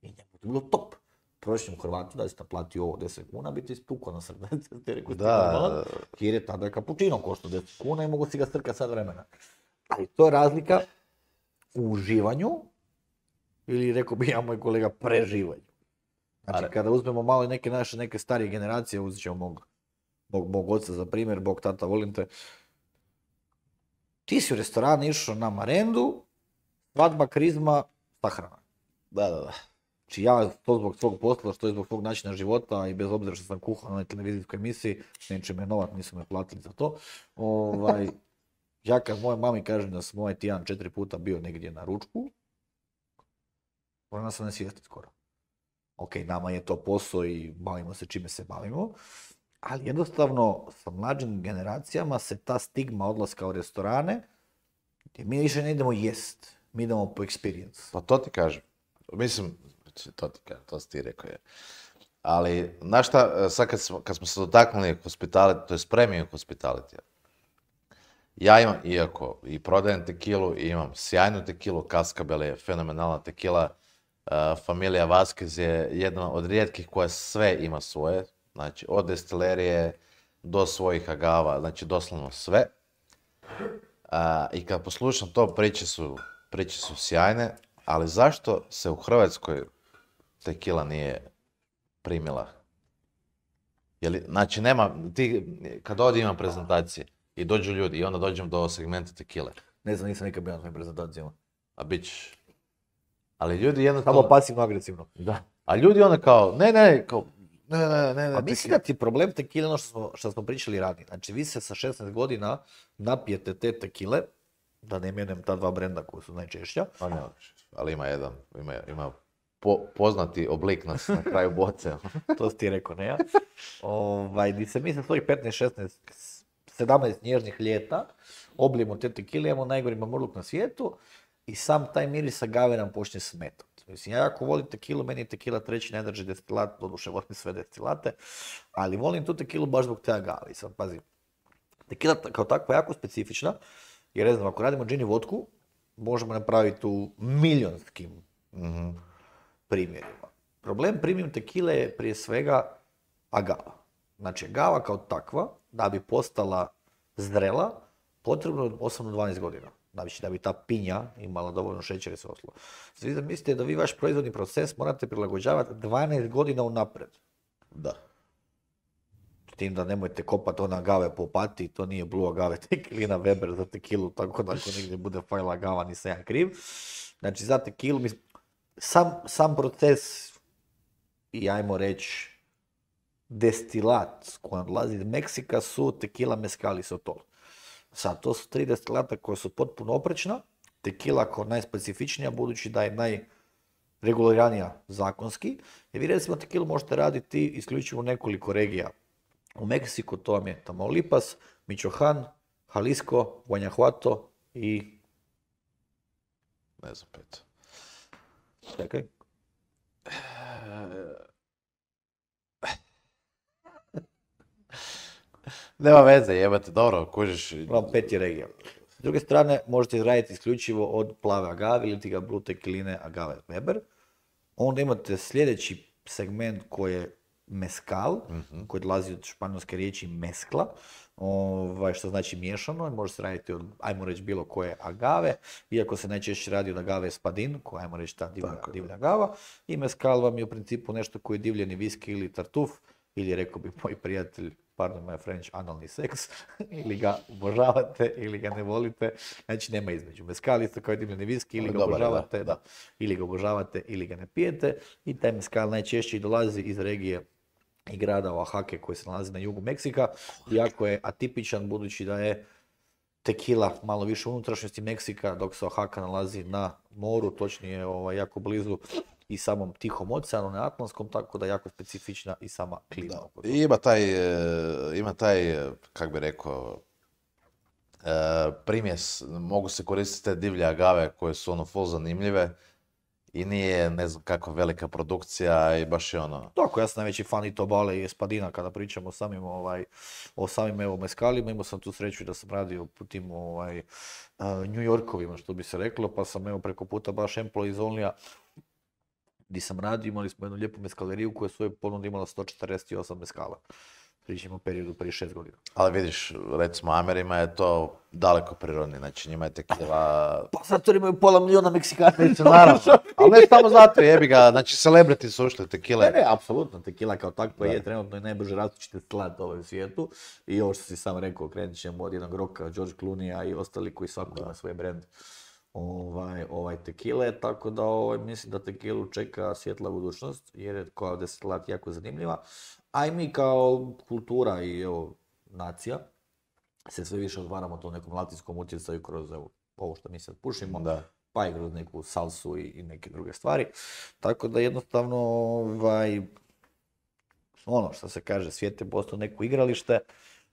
I njemu je to bilo top. Prošlim Hrvatu da si naplatio ovo 10 kuna, bi ti istukao na srce. Jer je tada kapućino koštao 10 kuna i mogu si ga strkati sad vremena. Ali to je razlika u uživanju, ili rekao bi ja moj kolega, preživanju. Znači kada uzmemo malo neke naše, neke starije generacije, uzet ćemo mog oca za primjer, bog tata volim te. Ti si u restoran išao na marendu, svadba, krizma, sahrana. Da. Znači ja to zbog svog posla, što je zbog svog načina života i bez obzira što sam kuhao na onoj televizijskoj emisiji, neće me novat, nisu me platili za to. Ja kad moje mami kažem da sam ovaj tjedan 4 puta bio negdje na ručku, ona sam ne svijesti skoro. Ok, nama je to posao i bavimo se čime se bavimo, ali jednostavno sa mlađim generacijama se ta stigma odlaska u restorane, gdje mi više ne idemo jest, mi idemo po experience. Pa to ti kažem. Mislim, to si ti rekao je. Ali, znaš šta, sad kad smo se dotaknuli hospitality, to je premium hospitality. Ja imam, iako i prodajem tekilu, i imam sjajnu tekilu, Cascabel je fenomenalna tekila. Familija Vasquez je jedna od rijetkih koja sve ima svoje. Znači, od destilerije do svojih agava, znači doslovno sve. I kad poslušam to, priče su sjajne, ali zašto se u Hrvatskoj tekila nije primila? Znači, nema, kad ovdje imam prezentacije i dođu ljudi i onda dođem do segmenta tekile. Ne znam, nisam nikad bio na svojim prezentacijama. A bit ćeš. Ali ljudi jednostavno... Samo pasivno-agresivno. Da. A ljudi onda kao, ne. Pa mislim da ti problem tekile ono što smo pričali ranije. Znači vi se sa 16 godina napijete te tekile, da ne imenujem ta dva brenda koja su najčešća. Pa ne, ali ima jedan, ima poznati oblik na kraju boce. To si ti rekao, ne ja? Di se mi sa svojih 15, 16, 17 nježnih ljeta oblijemo te tekile, imamo najgori mamurluk na svijetu i sam taj miris agave nam počne smetati. Mislim, ja ako volim tekilu, meni je tekila treći najdraži destilat, doduše volim sve destilate, ali volim tu tekilu baš zbog te agave. Sad, pazi, tekila kao takva je jako specifična, jer ne znam, ako radimo džin i vodku, možemo napraviti u milionskim primjerima. Problem premium tekile je prije svega agava. Znači, agava kao takva, da bi postala zrela, potrebno je 8 do 12 godina. Znači, da bi ta pinja imala dovoljno šećera i sve ostalo. Svi zamislite da vi vaš proizvodni proces morate prilagođavati 12 godina unaprijed. Da. S tim da nemojte kopati ona agave po Opatiji, to nije Blue agave tequilina Weber za tekilu, tako da ako negdje bude fajla agava nisam ja kriv. Znači, za tekilu, sam proces i ajmo reći destilat koji odlazi iz Meksika su tequila, mezcal i sotol. Sad, to su 3 destilata koja su potpuno oprečna. Tekila kao najspecifičnija, budući da je najreguliranija zakonski. Jer vi recimo tekilu možete raditi isključivo u nekoliko regija. U Meksiku to vam je Tamaulipas, Michoacán, Jalisco, Guanajuato i... Ne znam, pet. Čekaj. Nema veze, jebate, dobro, kužiš. Imam 5 regija. S druge strane, možete izraditi isključivo od plave agave ili ti ga blue tequiline agave Weber. Onda imate sljedeći segment koji je mezcal, koji dolazi od španjolske riječi mezcla, što znači miješano, može se raditi od, ajmo reći, bilo koje agave, iako se najčešće radi od agave espadin, koja ajmo reći ta divlja agava, i mezcal vam je u principu nešto koji je divljeni viski ili tartuf, ili rekao bi moj prijatelj pardon my French, analni seks, ili ga obožavate ili ga ne volite, znači nema između. Mezcal isto kao i dimljeni viski, ili ga obožavate, ili ga obožavate ili ga ne pijete, i taj mezcal najčešće dolazi iz regije i grada Oaxaca koji se nalazi na jugu Meksika, iako je atipičan budući da je tekila malo više u unutrašnjosti Meksika, dok se Oaxaca nalazi na moru, točnije jako blizu i samom Tihom oceanu, ne Atlantskom, tako da je jako specifična i sama klima. I ima taj, kak bi rekao, primjes, mogu se koristiti te divlje agave koje su full zanimljive i nije ne znam kakva velika produkcija i baš je Tako, ja sam najveći fan i Tobale i Espadina kada pričamo o samim evo mezcalima. Imao sam tu sreću da sam radio po tim New Yorkovima, što bi se reklo, pa sam evo preko puta baš Employees Onlya gdje sam radio, imali smo jednu lijepu mezcaleriju koja svoje ponude imala 148 mezcala. Pričamo o periodu prije 6 godina. Ali vidiš, recimo Amerima je to daleko prirodni, znači njima je tekila... Pa zato imaju pola milijuna Meksikana. Naravno, ali ne samo zato, jebi ga, znači celebrity su ušli tekile. Ne, apsolutno, tekila kao takva je trenutno i najbrže rastući slat u svijetu. I ovo što si sam rekao, krenut ćemo od jednog roka, George Clooney i ostali koji svako ima svoj brand tekile, tako da mislim da tekilu čeka svjetla budućnost, jer je kao destilat jako zanimljiva. A i mi kao kultura i nacija se sve više odvaramo to nekom latinskom utjecaju kroz ovo što mi sad pušimo, pa i kroz neku salsu i neke druge stvari. Tako da jednostavno, ono što se kaže, svijet je postao neko igralište.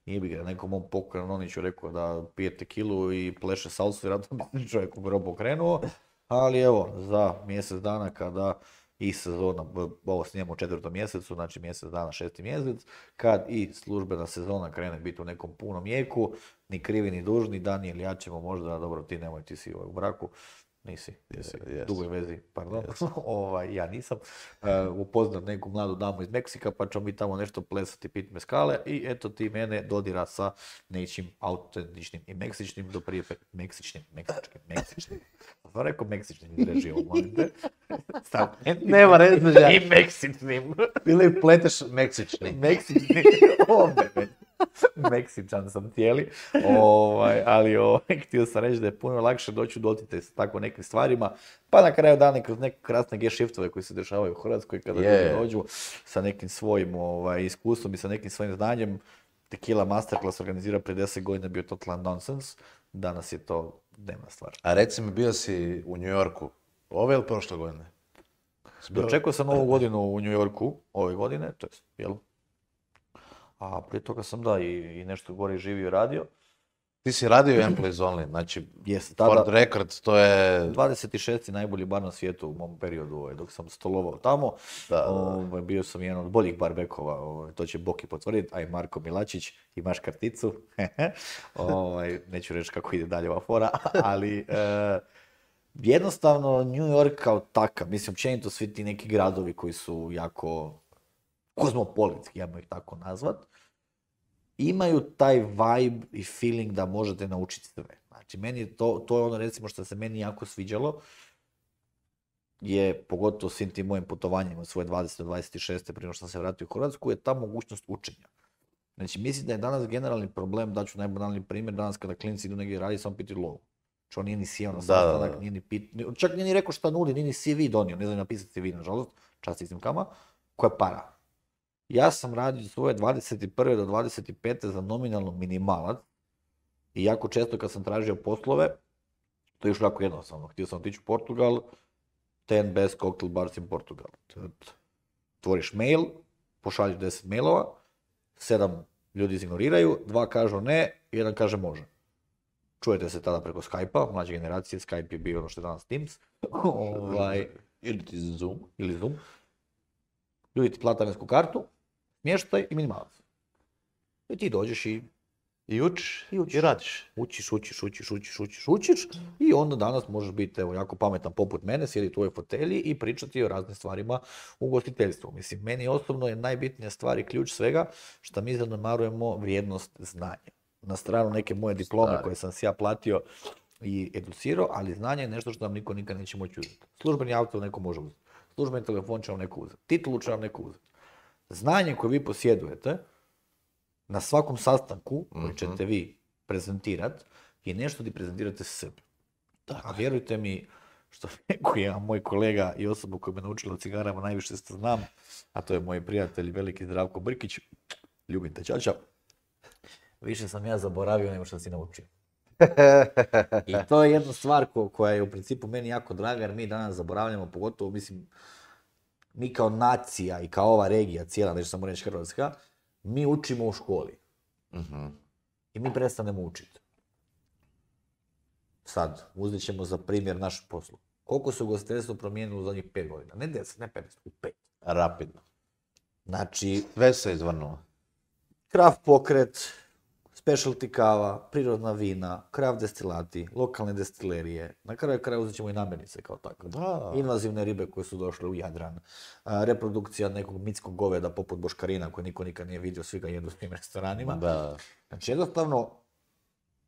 Nije bi ga nekom mom pokojnom Noniću rekao da pije tekilu i pleše salsu, vjerojatno bi čovjek u grobu okrenuo. Ali evo, za mjesec dana kada i sezona, ovo snijemo u 4. mjesecu, znači mjesec dana, 6. mjesec, kad i službena sezona krene biti u nekom punom jeku, ni krivi ni dužni, Daniel, ja ćemo možda, dobro ti nemoj, ti si u braku, nisi, u dugoj vezi, pardon, ja nisam, upoznat neku mladu damu iz Meksika, pa ćemo mi tamo nešto plesati, pit mezcale i eto ti mene dodira sa nečim autentičnim i meksičnim, do prije meksičnim. Pa rekao meksičnim izrežio, molim te. Nema rezmeđa. I meksičnim. Ili pleteš meksični. Meksičan sam cijeli, ali htio sam reći da je puno lakše doći u doticaj s tako nekim stvarima, pa na kraju dana kroz neke krasne G-shiftove koji se dešavaju u Hrvatskoj kada dođu sa nekim svojim iskustvom i sa nekim svojim znanjem. Tequila Masterclass organizira prije 10 godina bio totalan nonsense, danas je to dnevna stvar. A reci mi, bio si u New Yorku ove ili prošle godine? Dočekao sam Novu godinu u New Yorku ove godine, to je, a prije toga sam i nešto gore živio i radio. Ti si radio Employees Only, znači for the record, to je... 26. najbolji bar na svijetu u mom periodu dok sam stolovao tamo. Bio sam jedan od boljih barbekova, to će Boki potvrditi, a i Marko Milačić, imaš karticu. Neću reći kako ide dalje ova fora, ali jednostavno New York kao takav, mislim općenito svi ti neki gradovi koji su jako kozmopolitski, ja ih tako nazvat, imaju taj vibe i feeling da možete naučiti sve. Znači, meni to je ono recimo što se meni jako sviđalo, je pogotovo svim tim mojim putovanjima svoje 20-26. prije što sam se vratio u Hrvatsku, je ta mogućnost učenja. Znači, mislim da je danas generalni problem, daću najbanalni primjer, danas kada klinci idu negdje raditi, samo piti lovu. Znači, on nije ni sjeo na sastanak, nije ni čak nije ni rekao šta nudi, nije ni CV donio, ne znam napisati CV, nažalost, čast iznimkama, koja je para. Ja sam radio svoje 21. do 25. za nominalno minimalac i jako često kad sam tražio poslove, to je još jako jednostavno. Htio sam otići u Portugal, 10 best cocktail bars in Portugal. Tvoriš mail, pošalješ 10 mailova, 7 ljudi izignoriraju, 2 kažu ne, 1 kaže može. Čujete se tada preko Skype-a, mlađe generacije, Skype je bio ono što je danas Teams. Ili Zoom. Ljudi ti plate talijansku kartu, smještaj i minimalac. I ti dođeš i učiš i radiš. Učiš i onda danas možeš biti jako pametan poput mene, sjedi u tvojoj fotelji i pričati o raznim stvarima u ugostiteljstvu. Mislim, meni osobno je najbitnija stvar i ključ svega što mi zanemarujemo vrijednost znanja. Na stranu neke moje diplome koje sam si ja platio i educirao, ali znanje je nešto što nam niko nikad neće moći uzeti. Službeni auto neko može uzeti. Službeni telefon će vam neko uzeti. Titulu će vam neko uzeti. Znanje koje vi posjedujete na svakom sastanku koji ćete vi prezentirati je nešto di prezentirate sebi. A vjerujte mi, što rekao je moj kolega i osoba koja me naučila o cigarama najviše što znam, a to je moj prijatelj veliki Zdravko Brkić, ljubim te čača, više sam ja zaboravio nego što si naučio. I to je jedna stvar koja je u principu meni jako draga, jer mi danas zaboravljamo, pogotovo mislim, mi kao nacija i kao ova regija cijela, neću samo reći Hrvatska, mi učimo u školi. I mi prestanemo učiti. Sad, uzet ćemo za primjer naš poslu. Koliko se ugostiteljstvo promijenilo u zadnjih 5 godina? Ne 10, ne 15, u 5. Rapidno. Znači, Sve se izvrnulo. kraft pokret, specialty kava, prirodna vina, kraft destilati, lokalne destilerije. Na kraju kraja uzet ćemo i namirnice kao tako. Da. Invazivne ribe koje su došle u Jadran. Reprodukcija nekog mitskog goveda poput boškarina koje niko nikad nije vidio, svi ga jedu s tim restoranima. Da. Znači jednostavno,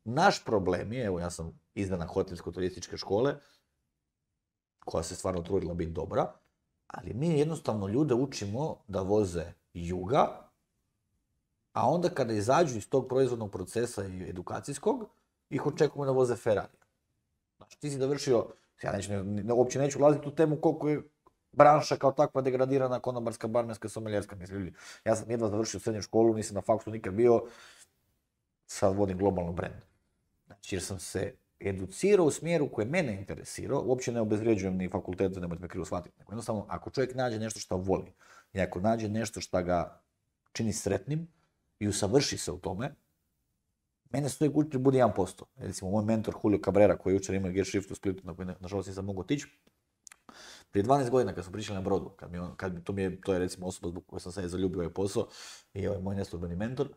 naš problem je, evo ja sam izdana hotelsko-turističke škole, koja se stvarno trudila biti dobra, ali mi jednostavno ljude učimo da voze juga, a onda kada izađu iz tog proizvodnog procesa i edukacijskog, ih očekujemo da voze Ferrari. Znači ti si završio, ja uopće neću ulaziti u temu koliko je branša kao takva degradirana, konobarska, barmenska, someljerska, mislim, ja sam jedva završio srednju školu, nisam na faksu nikad bio, sad vodim globalno brand. Znači, jer sam se educirao u smjeru koji mene interesirao, uopće ne obezvrijeđujem ni fakultete, nemojte me krivo shvatiti, nego jednostavno, ako čovjek nađe nešto što voli i ako nađe nešto što ga čini sretnim i usavrši se u tome, mene se uvijek uči bude 1%. Recimo, moj mentor Julio Cabrera, koji je jučer imao Gearshift u Splitu, na koji nažalost nisam mogao otići, prije 12 godina kad smo pričali na brodu, to je recimo osoba zbog koje sam se zaljubio ovaj posao i ovaj moj neslužbeni mentor,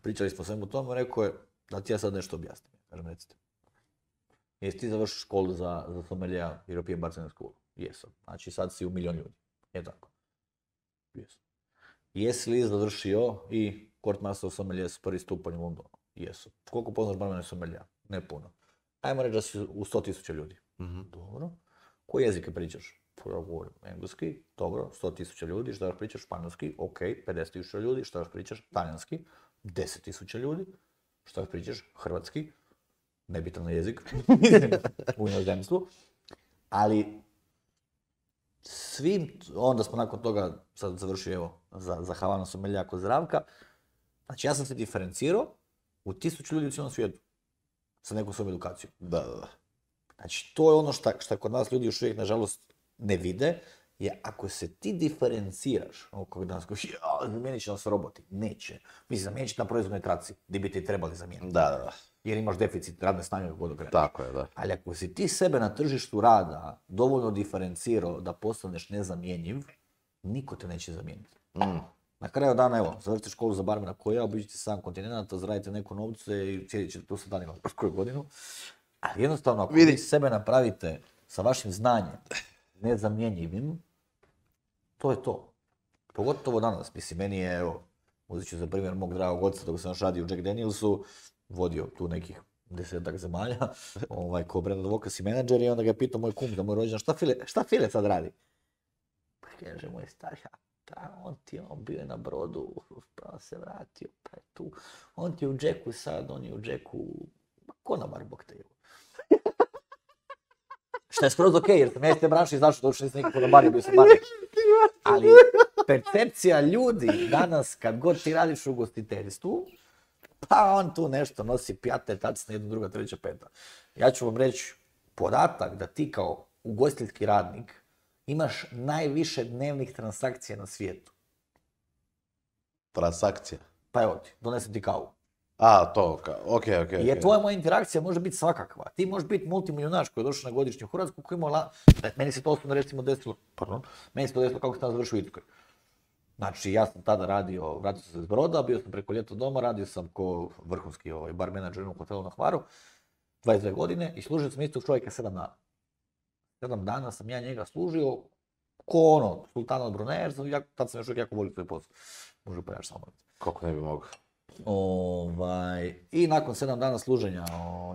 pričali smo svemu tomu, rekao je da ti ja sad nešto objasnim. Kažem, recite. Jesi ti završio školu za sommelier European Bartender School? Jesam. Znači sad si u 1 milion ljudi. Je tako? Jesam. Jesi li završio i Court Master of Sommelier s prvi stupanj u Londonu? Jesam. Koliko poznaš barmena i sommelier? Ne puno. Ajmo reći da si u 100.000 ljudi. Dobro. Koji jezike pričaš? Ja govorim engleski, dobro, 100.000 ljudi, što još pričaš? Španjolski, ok, 50.000 ljudi, što još pričaš? Talijanski, 10.000 ljudi, što još pričaš? Hrvatski, nebitan jezik, u inozemstvu, ali onda smo nakon toga sad završio, evo, za Havana sommelier kod Zdravka, znači ja sam se diferencirao u 1000 ljudi u cijelom svijetu, sa nekom svojom edukacijom. Da. Znači, to je ono što kod nas ljudi još uvijek, nažalost, ne vide, je ako se ti diferenciraš, kog danas koji zamijenit će nas roboti, neće. Mislim, zamijenit će na proizvodnoj traci, gdje bi ti trebali zamijeniti. Da. Jer imaš deficit radne snage kako god okreneš. Tako je, da. Ali ako si ti sebe na tržištu rada dovoljno diferencirao da postaneš nezamjenjiv, niko te neće zamijeniti. Na kraju dana, evo, završite školu za barmena koja, obiđite 7 kontinenta, zaradite neko novce i sjedit ćete tu sa danima koju godinu. Ali jednostavno, ako vi sebe napravite sa vašim znanjem nezamjenjivim, to je to. Pogotovo danas. Mislim, meni je, evo, uzet ću za primjer mog dragog oca, dok sam još radio u Jack Danielsu, vodio tu nekih 10-ak zemalja, ko brand advocacy menadžer, i onda ga je pitao moj kum, da moj rođen, šta File sad radi? Pa kaže moj stari, on bio je na brodu, pa se vratio, pa je tu. On ti je u Jacku sad, on je u Jacku, konobar bog te. Šta je skroz okej, jer sam ja iz te branše izašao, to što nisam nikako na barju, bio sam barnik. Ali percepcija ljudi danas, kad god ti radiš u ugostiteljstvu, pa on tu nešto nosi pjate, tacne, jedna, druga, treća, peta. Ja ću vam reći podatak da ti kao ugostiteljski radnik imaš najviše dnevnih transakcija na svijetu. Transakcija? Pa evo ti, donesem ti kavu. To, okej. Jer tvoja moja interakcija može biti svakakva. Ti možeš biti multimilionaš koji je došao na godišnju u Hrvatsku, koji ima meni se to osobno recimo desilo, meni se to desilo kako sam završio u Irskoj. Znači, ja sam tada radio, vratio sam se iz broda, bio sam preko ljeta doma, radio sam ko vrhunski bar menadžer u hotelu na Hvaru, 22 godine, i služio sam istog čovjeka 7 dana. 7 dana sam ja njega služio ko sultan od Brunei, tad sam još uvijek jako volio svoj posao. Može pojaš samo. Kako ne bi mogao. I nakon 7 dana služenja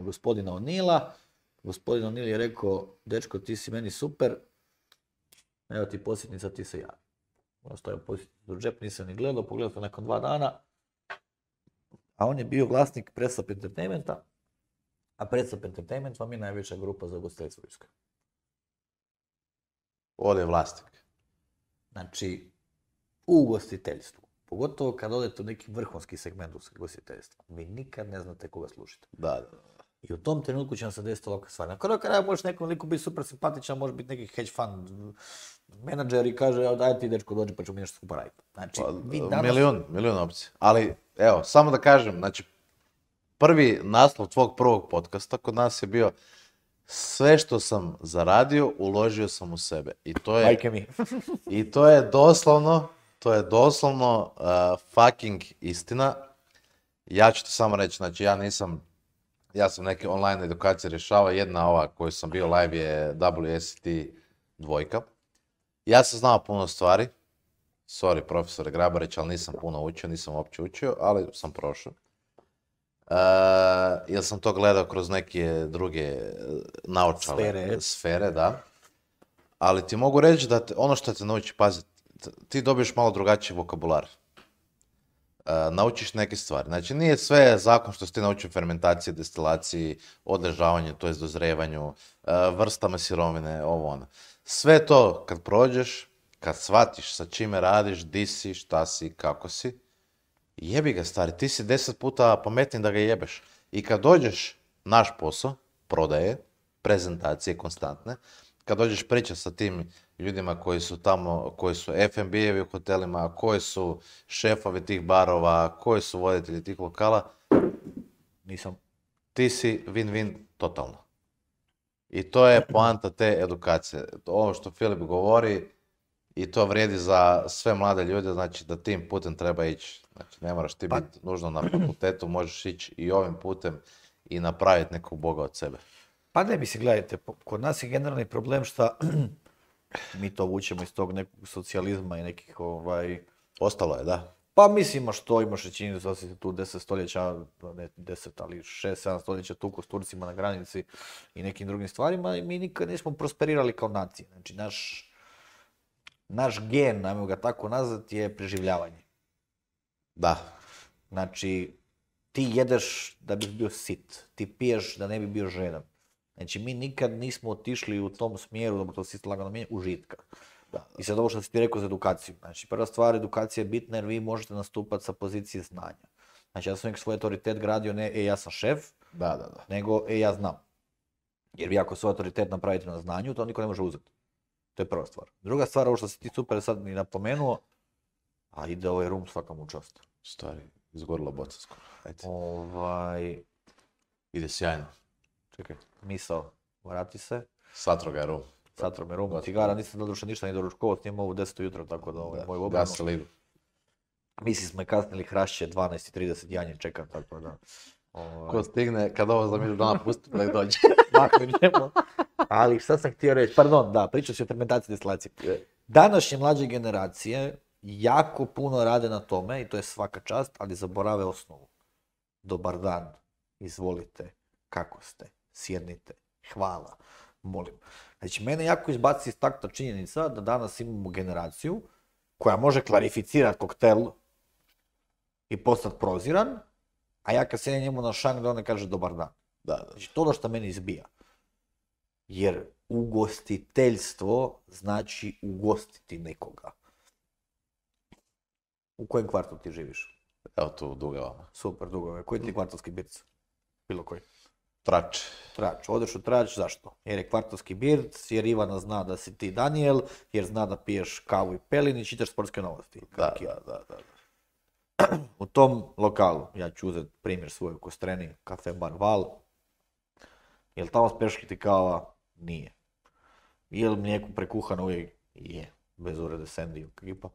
gospodina O'Neilla, gospodin O'Neill je rekao, dečko, ti si meni super, evo ti posjetnica, ti se javi. ostavio posjeti u džep, nisam ni gledao, pogledao sam nakon 2 dana, a on je bio vlasnik Press Up Entertainmenta, a Press Up Entertainment vam je najveća grupa za ugostiteljstvo u Irskoj. Ovdje je vlasnik. Znači, u ugostiteljstvu, pogotovo kad odete u neki vrhunski segment ugostiteljstva, vi nikad ne znate koga slušate. Da. I u tom trenutku će vam se desiti ovakve stvari. Na kraju kraja možeš nekom liku biti super simpatičan, može biti neki hedge fund menadžer i kaže, daj ti dečko dođi pa ćemo mi nešto skupa raditi. Znači, vi danas... Milijun opcija. Ali, evo, samo da kažem, znači, prvi naslov tvog prvog podcasta kod nas je bio sve što sam zaradio, uložio sam u sebe. I to je... Majke mi. I to je doslovno fucking istina. Ja ću ti samo reći, znači ja sam neke online edukacije rješavao, jedna ova koju sam bio live je WSET 2. Ja sam znao puno stvari, sorry profesore Grabarić, ali nisam puno učio, nisam uopće učio, ali sam prošao. Jer sam to gledao kroz neke druge naočale sfere, da. Ali ti mogu reći da ono što te nauči, pazi, ti dobiješ malo drugačiji vokabular. Naučiš neke stvari. Znači nije sve zakon što si ti naučio fermentaciji, destilaciji, odležavanju, to jest dozrevanju, vrstama sirovine, ovo ono. Sve to kad prođeš, kad shvatiš sa čime radiš, di si, šta si, kako si, jebi ga stari, ti si 10 puta pametniji da ga jebeš. I kad dođeš naš posao, prodaje, prezentacije konstantne, kad dođeš pričati sa tim ljudima koji su tamo, koji su F&B-evi u hotelima, koji su šefovi tih barova, koji su voditelji tih lokala, Nisam. Ti si win-win totalno. I to je poanta te edukacije. Ovo što Filip govori, i to vrijedi za sve mlade ljude, znači da tim putem treba ići. Znači ne moraš ti biti nužno na fakultetu, možeš ići i ovim putem i napraviti nekog boga od sebe. Pa ne, mislim, gledajte, kod nas je generalni problem što mi to vučemo iz tog nekog socijalizma i nekih Ostalo je, da. Pa mislimo što imaš čini da se tu 10 stoljeća, ne 10, ali 6-7 stoljeća tuku s Turcima na granici i nekim drugim stvarima i mi nikad nismo prosperirali kao nacija. Znači naš gen, ajmo ga tako nazvati, je preživljavanje. Da. Znači, ti jedeš da bi bio sit, ti piješ da ne bi bio žedan. Znači, mi nikad nismo otišli u tom smjeru, dobro to si lagano mijenja, užitka. Da. I sad ovo što si ti rekao za edukaciju. Znači, prva stvar, edukacija je bitna jer vi možete nastupati sa pozicije znanja. Znači, ja sam uvijek svoj autoritet gradio ne, ja sam šef, nego, ja znam. Jer vi ako svoj autoritet napravite na znanju, to niko ne može uzeti. To je prva stvar. Druga stvar, ovo što si ti super sad mi napomenuo, a ide ovaj rum svaka mu čast. Stari, izgorila boca skoro. Ajde. Ide sjajno. Čekaj, misao, vrati se. Satro ga je rum. Satro me rum, cigara, nisam doduše ništa ni doručkovao, snimao u 10 ujutro, tako da moj obranu. Gasili idu. Misli smo je kasnili hrašće, 12:30 janje čekam, tako da. Ko stigne, kad ovo za milion dana pusti, da ih dođe. Maknemo. Ali šta sam htio reći, pardon, da, pričao si o fermentaciji destilacije. Današnje mlađe generacije jako puno rade na tome i to je svaka čast, ali zaborave osnovu. Dobar dan, izvolite, kako ste, sjednite, hvala, molim. Znači, mene jako izbaci iz takta činjenica da danas imamo generaciju koja može klarificirati koktel i postati proziran, a ja kad sjedim njemu na šank da on ne kaže dobar dan. Znači, to ono što meni izbija. Jer ugostiteljstvo znači ugostiti nekoga. U kojem kvartu ti živiš? Evo tu u Dugavama. Super, Dugave. Koji ti je kvartovski birc? Bilo koji? Trač. Trač. Odeš u Trač, zašto? Jer je kvartovski birc, jer Ivana zna da si ti Daniel, jer zna da piješ kavu i pelin i čitaš sportske novosti. Da. U tom lokalu, ja ću uzeti primjer svoj u Kostreni, kafe bar Val. Jel tamo speškiti kava? Nije. Jel mlijeko prekuhano uvijek? Je. Bez urede Sandy ekipa.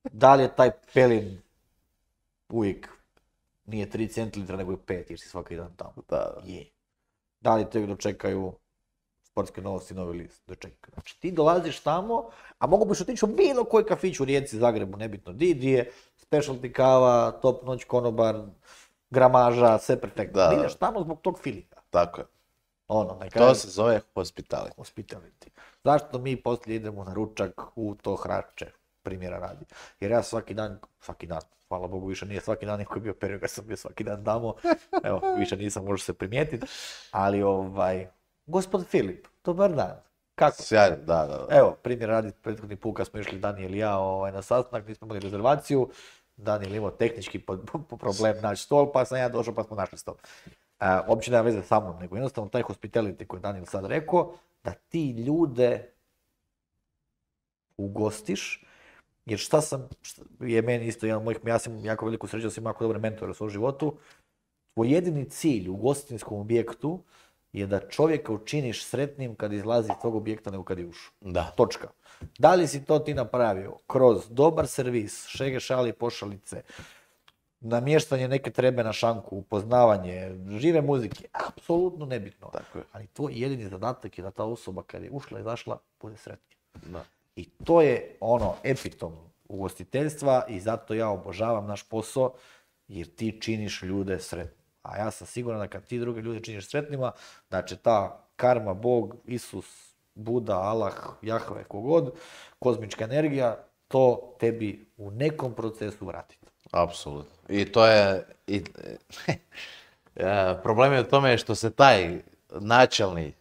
Da li je taj pelin uvijek nije 3 centilitra nego je 5 jer si svaki dan tamo? Je. Da li te dočekaju sportske novosti, novi list? Dočekaju. Znači ti dolaziš tamo, a mogu biš otići u bilo koji kafić u Rijeci, Zagrebu, nebitno di je, specialty kava, top noć, konobar, gramaža, sve perfektno. Da. Ideš tamo zbog tog feelinga. Tako je. To se zove hospitality. Zašto mi poslije idemo na ručak u to hrače? primjera radi. Jer ja svaki dan, hvala Bogu više nije svaki dan niko je bio period kad sam bio svaki dan tamo, evo, više nisam, može se primijetiti, ali gospod Filip, dobar dan. Kako? Sjajno, da. Evo, primjer radi, prethodni put kad smo išli Daniel i ja na sastanak, nismo imali rezervaciju, Daniel imao tehnički problem naći stol, pa sam ja došao pa smo našli stol. Uopće nema veze sa mnom, nego jednostavno taj hospitality koji je Daniel sad rekao, da ti ljude ugostiš, jer je meni isto jedan od mojih, ja sam jako veliku sreću da sam jako dobre mentore u svom životu, tvoj jedini cilj u ugostiteljskom objektu je da čovjeka učiniš sretnim kad izlazi iz tvog objekta nego kad je ušao. Da. Točka. Da li si to ti napravio kroz dobar servis, šege, šali, pošalice, namještanje neke trebe na šanku, upoznavanje, žive muzike, apsolutno nebitno. Tako je. Ali tvoj jedini zadatak je da ta osoba kad je ušla i izašla bude sretnija. Da. I to je epitom ugostiteljstva i zato ja obožavam naš posao jer ti činiš ljude sretnim. A ja sam siguran da kad ti druge ljude činiš sretnima, da će ta karma, Bog, Isus, Buda, Allah, Jahve, kogod, kozmička energija, to tebi u nekom procesu vratiti. Apsolutno. I to je... problem je u tome što se taj načelni,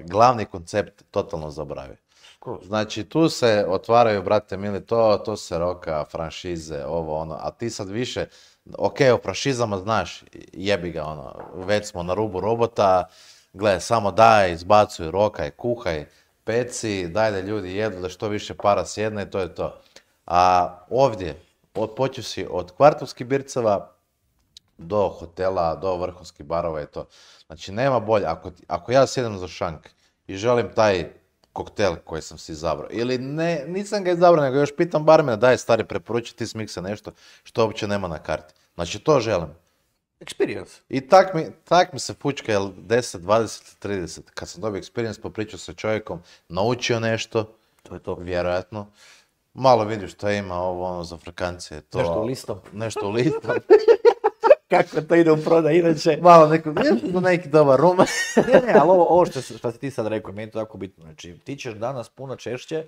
glavni koncept totalno zaboravi. Znači, tu se otvaraju, brate mili, to se roka, franšize, ovo, ono, a ti sad više, ok, o franšizama znaš, jebi ga, ono, već smo na rubu robota, gle, samo daj, izbacuj, rokaj, kuhaj, peci, daj da ljudi jedu, da što više para sjedne i to je to. A ovdje, počeo si od kvartovskih birceva do hotela, do vrhunskih barova i to. Znači, nema bolje, ako ja sjedem za šank i želim taj koktel koji sam si izabrao. Ili ne, nisam ga izabrao, nego još pitam barmena, daj stari, preporuči ti smiksa nešto što uopće nema na karti. Znači, to želim. Experience. I tak mi se fučka, 10, 20, 30. Kad sam dobio experience, popričao sa čovjekom, naučio nešto, to je to. Vjerojatno. Malo vidiš što ima ovo za frkancije. Nešto u listom. Nešto u listom. Kako to ide u prodaj, inače. Malo neki dobar rum. ne, ali ovo što si ti sad rekao, meni je to jako bitno. Znači, ti ćeš danas puno češće,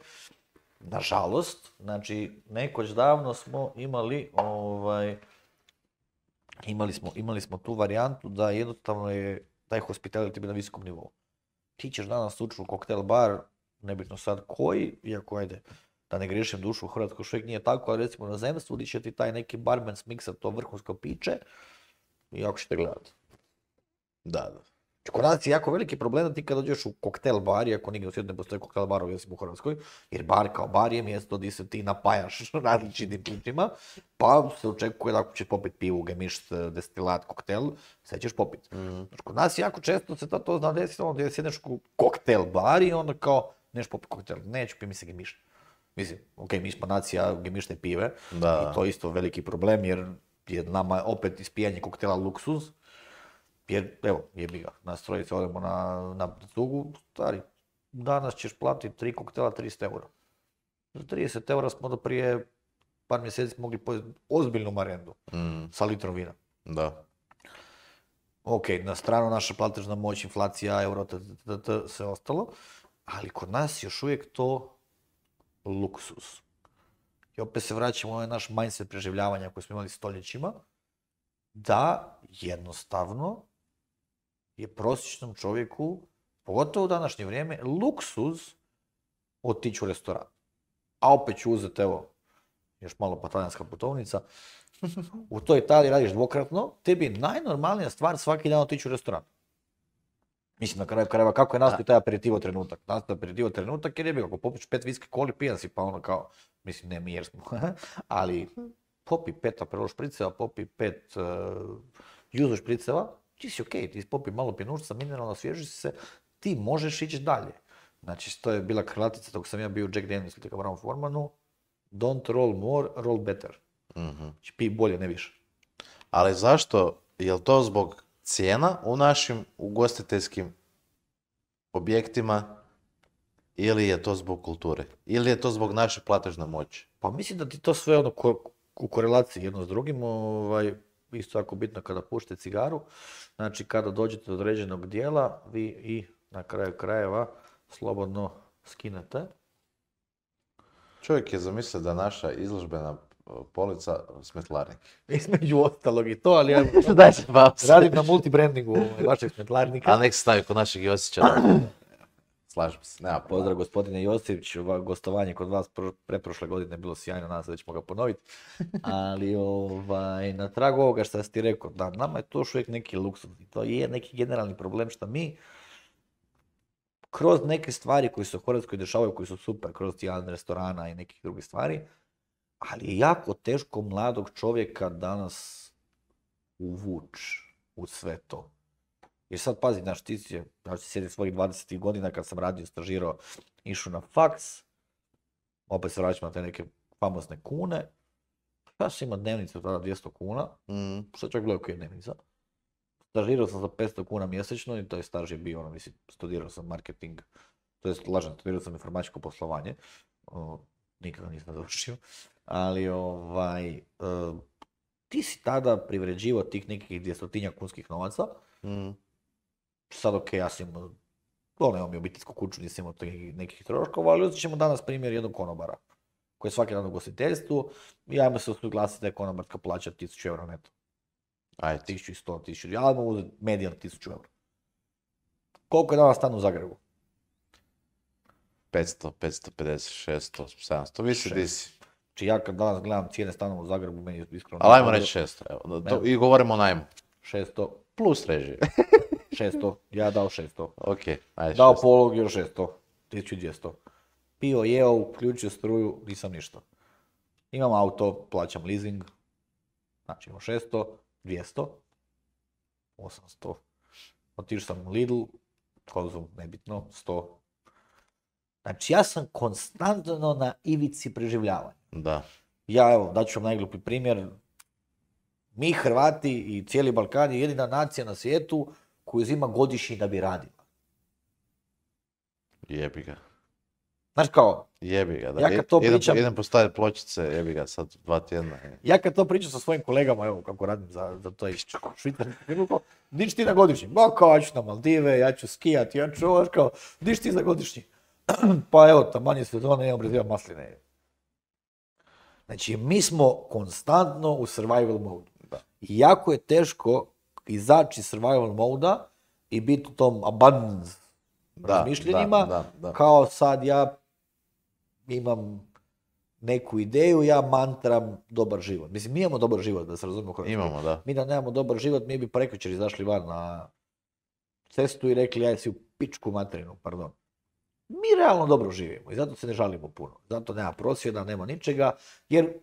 nažalost, znači, nekoć davno smo imali smo tu varijantu da jednostavno je taj hospitality bio na visokom nivou. Ti ćeš danas ući u koktel bar, nebitno sad koji, iako ajde, da ne griješim dušu, u Hrvatskoj još uvijek nije tako, ali recimo na zemstvu gdje će ti taj neki barman smiksat to vrhunsko piće i jako ćete gledati. Da. Kod nas je jako veliki problem da ti kad dođeš u koktel bar, iako nigdje u svijetu ne postoji koktel barovi osim u Hrvatskoj, jer bar kao bar je mjesto gdje se ti napajaš različitim pićima, pa se očekuje da ako ćeš popit pivu, gemišt, destilat, koktel, sve ćeš popit. Kod nas jako često se to zna desiti, gdje sjedneš u koktel bar i onda kao, neš popit koktel, neću pi mi se gemišt. Mislim, ok, mi smo nacija gemišne pive i to je isto veliki problem jer je nama opet ispijanje koktela luksuz. Jer, evo, jebi ga, nas trojice odemo na tugu, stari, danas ćeš platiti 3 koktela 300 eura. Za 30 eura smo do prije par mjeseci mogli pojesti ozbiljnu marendu sa litrom vina. Da. Ok, na stranu naša platežna moć, inflacija, euro, sve ostalo, ali kod nas još uvijek to luksuz. I opet se vraćamo u ovaj naš mindset preživljavanja koji smo imali stoljećima, da jednostavno je prosječnom čovjeku, pogotovo u današnje vrijeme, luksuz otići u restoran. A opet ću uzeti, evo, još malo pa talijanska putovnica, u toj Italiji radiš dvokratno, tebi je najnormalnija stvar svaki dan otići u restoran. Mislim, na kraju krajeva, kako je nastao taj aperitivo trenutak? Nastao aperitivo trenutak jer je bilo, ako popiš 5 viski koli, pijan si, pa ono kao, mislim, ne mi jer smo, ali popi 5 Aperol špriceva, popi 5 juzo špriceva, ti si okej, ti popi malo pjenušca, mineralno, osvježi si se, ti možeš ići dalje. Znači, to je bila krilatica dok sam ja bio u Jack Daniels ili Brown Formanu, don't roll more, roll better. Znači, pi bolje, ne više. Ali zašto? Je li to zbog cijena u našim ugostiteljskim objektima ili je to zbog kulture? Ili je to zbog naše platežne moći? Pa mislim da ti to sve ono u korelaciji jedno s drugim, isto jako bitno kada pušite cigaru, znači kada dođete do određenog dijela, vi i na kraju krajeva slobodno skinete. Čovjek je zamislio da naša izložbena polica smetlarnik. Između ostalog i to, ali ja Daj se pauza. radim na multibrandingu vašeg smetlarnika. A nek se stavi kod našeg Josića. Slažem se, nema Pozdrav problema. gospodine Josić, gostovanje kod vas preprošle godine je bilo sjajno, nadam se da ćemo ga ponoviti. Ali na tragu ovoga što si ti rekao, da, nama je to još uvijek neki luksuz. I to je neki generalni problem što mi kroz neke stvari koje se u Hrvatskoj dešavaju, koji su super, kroz jedan restorana i nekih drugih stvari, ali je jako teško mladog čovjeka danas uvući u sve to. Jer sad pazi, znaš, ja ću sjedim svojih 20 godina kad sam radio, stažirao, išao na faks, opet se vraćam na te neke famosne kune, ja sam imao dnevnicu tada 200 kuna, što čak bilo ok dnevnica. Stažirao sam za 500 kuna mjesečno i to je staž je bio, mislim, studirao sam marketing, to jest lažem, studirao sam informatičko poslovanje, nikada nisam završio, ali ti si tada privređivao tih nekih 200 kunskih novaca, sad ok, ja sam imao mi obiteljsku kuću, nisam imao nekih troškova, ali uzet ćemo danas primjer jednog konobara, koji je svaki dan u ugostiteljstvu i ajmo se usuglasiti da je konobarska plaća 1000 eura neto. Ajde. 1100, 1000, ja ajmo uzeti medijan 1000 eura. Koliko je danas stan u Zagrebu? 500, 550, 600, 700, visi di si. Znači ja kad danas gledam cijene stanova u Zagrebu, meni je iskreno... Ali ajmo reći 600, evo. I govorimo o najmu. 600, Plus režije. 600, ja dao 600. Ok, ajde Dao 600. polog još 600, 1200. Pio, jeo, uključio struju, nisam ništa. Imam auto, plaćam leasing, znači imam 600, 200, 800. Otišao sam u Lidl, Konzum, nebitno, 100. Znači ja sam konstantno na ivici preživljavanja. Da. Ja, evo, daću vam najglupi primjer. Mi Hrvati i cijeli Balkan je jedina nacija na svijetu koju uzima godišnji da bi radila. Jebi ga. Znaš kao, Jebi ga, da. Ja kad to pričam- Idem postaviti pločice, jebi ga, sad 2 tjedna. ja kad to pričam sa svojim kolegama, evo kako radim za to švicarsku firmu, di ću ti na godišnji? Ma kao, ja ću na Maldive, ja ću skijati, ja ću ovo, kao, di ću ti za godišnji? Pa evo, taman je sezone, imam brezivam masline. Znači, mi smo konstantno u survival mode. I jako je teško izaći iz survival moda i biti u tom abundance razmišljenjima, da. kao sad ja imam neku ideju, ja mantram dobar život. Mislim, mi imamo dobar život, da se razumijemo u Hrvatskoj. Imamo, da. Mi da nemamo dobar život, mi bi prekjučer izašli van na cestu i rekli, aj si u pičku materinu, pardon. Mi realno dobro živimo i zato se ne žalimo puno. Zato nema prosvjeda, nema ničega, jer,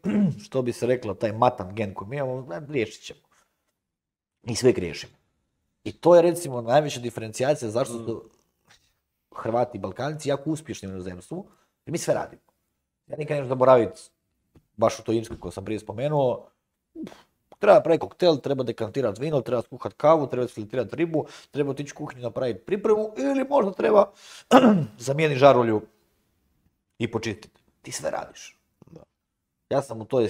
što bi se reklo, taj matan gen koji mi imamo, riješit ćemo. I sve griješimo. I to je, recimo, najveća diferencijacija zašto su Hrvati i Balkanci jako uspješni u inozemstvu, jer mi sve radimo. Ja nikad neću zaboraviti, baš u toj Irskoj koju sam prije spomenuo, treba praviti koktel, treba dekantirati vino, treba skuhati kavu, treba filtrirati ribu, treba otići u kuhinju napraviti pripremu ili možda treba zamijeniti žarulju i počistiti. Ti sve radiš. Ja sam u toj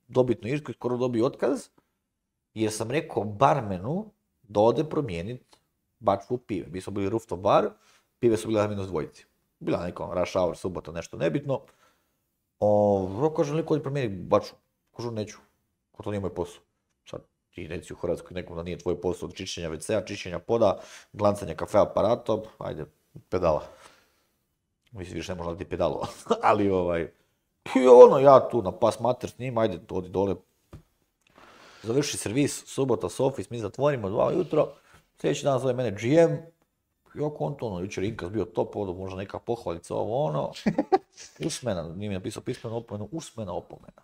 dobitnoj Irskoj skoro dobio otkaz jer sam rekao barmenu da ode promijeniti bačvu pive. Mi smo bili rooftop bar, pive su bile na -2. Bila neka rush hour, subota, nešto nebitno. Kažem, liko odi promijeniti bačvu. Kažu, neću. Ko to nije moj posao. Sad ti reci u Hrvatskoj nekom da nije tvoj posao od čišćenja WC-a, čišćenja poda, glancanja kafe aparata, ajde. Pedala. Mislim, više ne možda ti pedalova. Ali i ja tu na pas mater s njim, ajde, odi dole. Završi servis, subota, office, mi zatvorimo 2 ujutro, sljedeći dan zove mene GM, jako on to, jučer Inkas bio top, možda neka pohvalica, usmena, nije mi napisao pismenu opomenu, usmena opomena.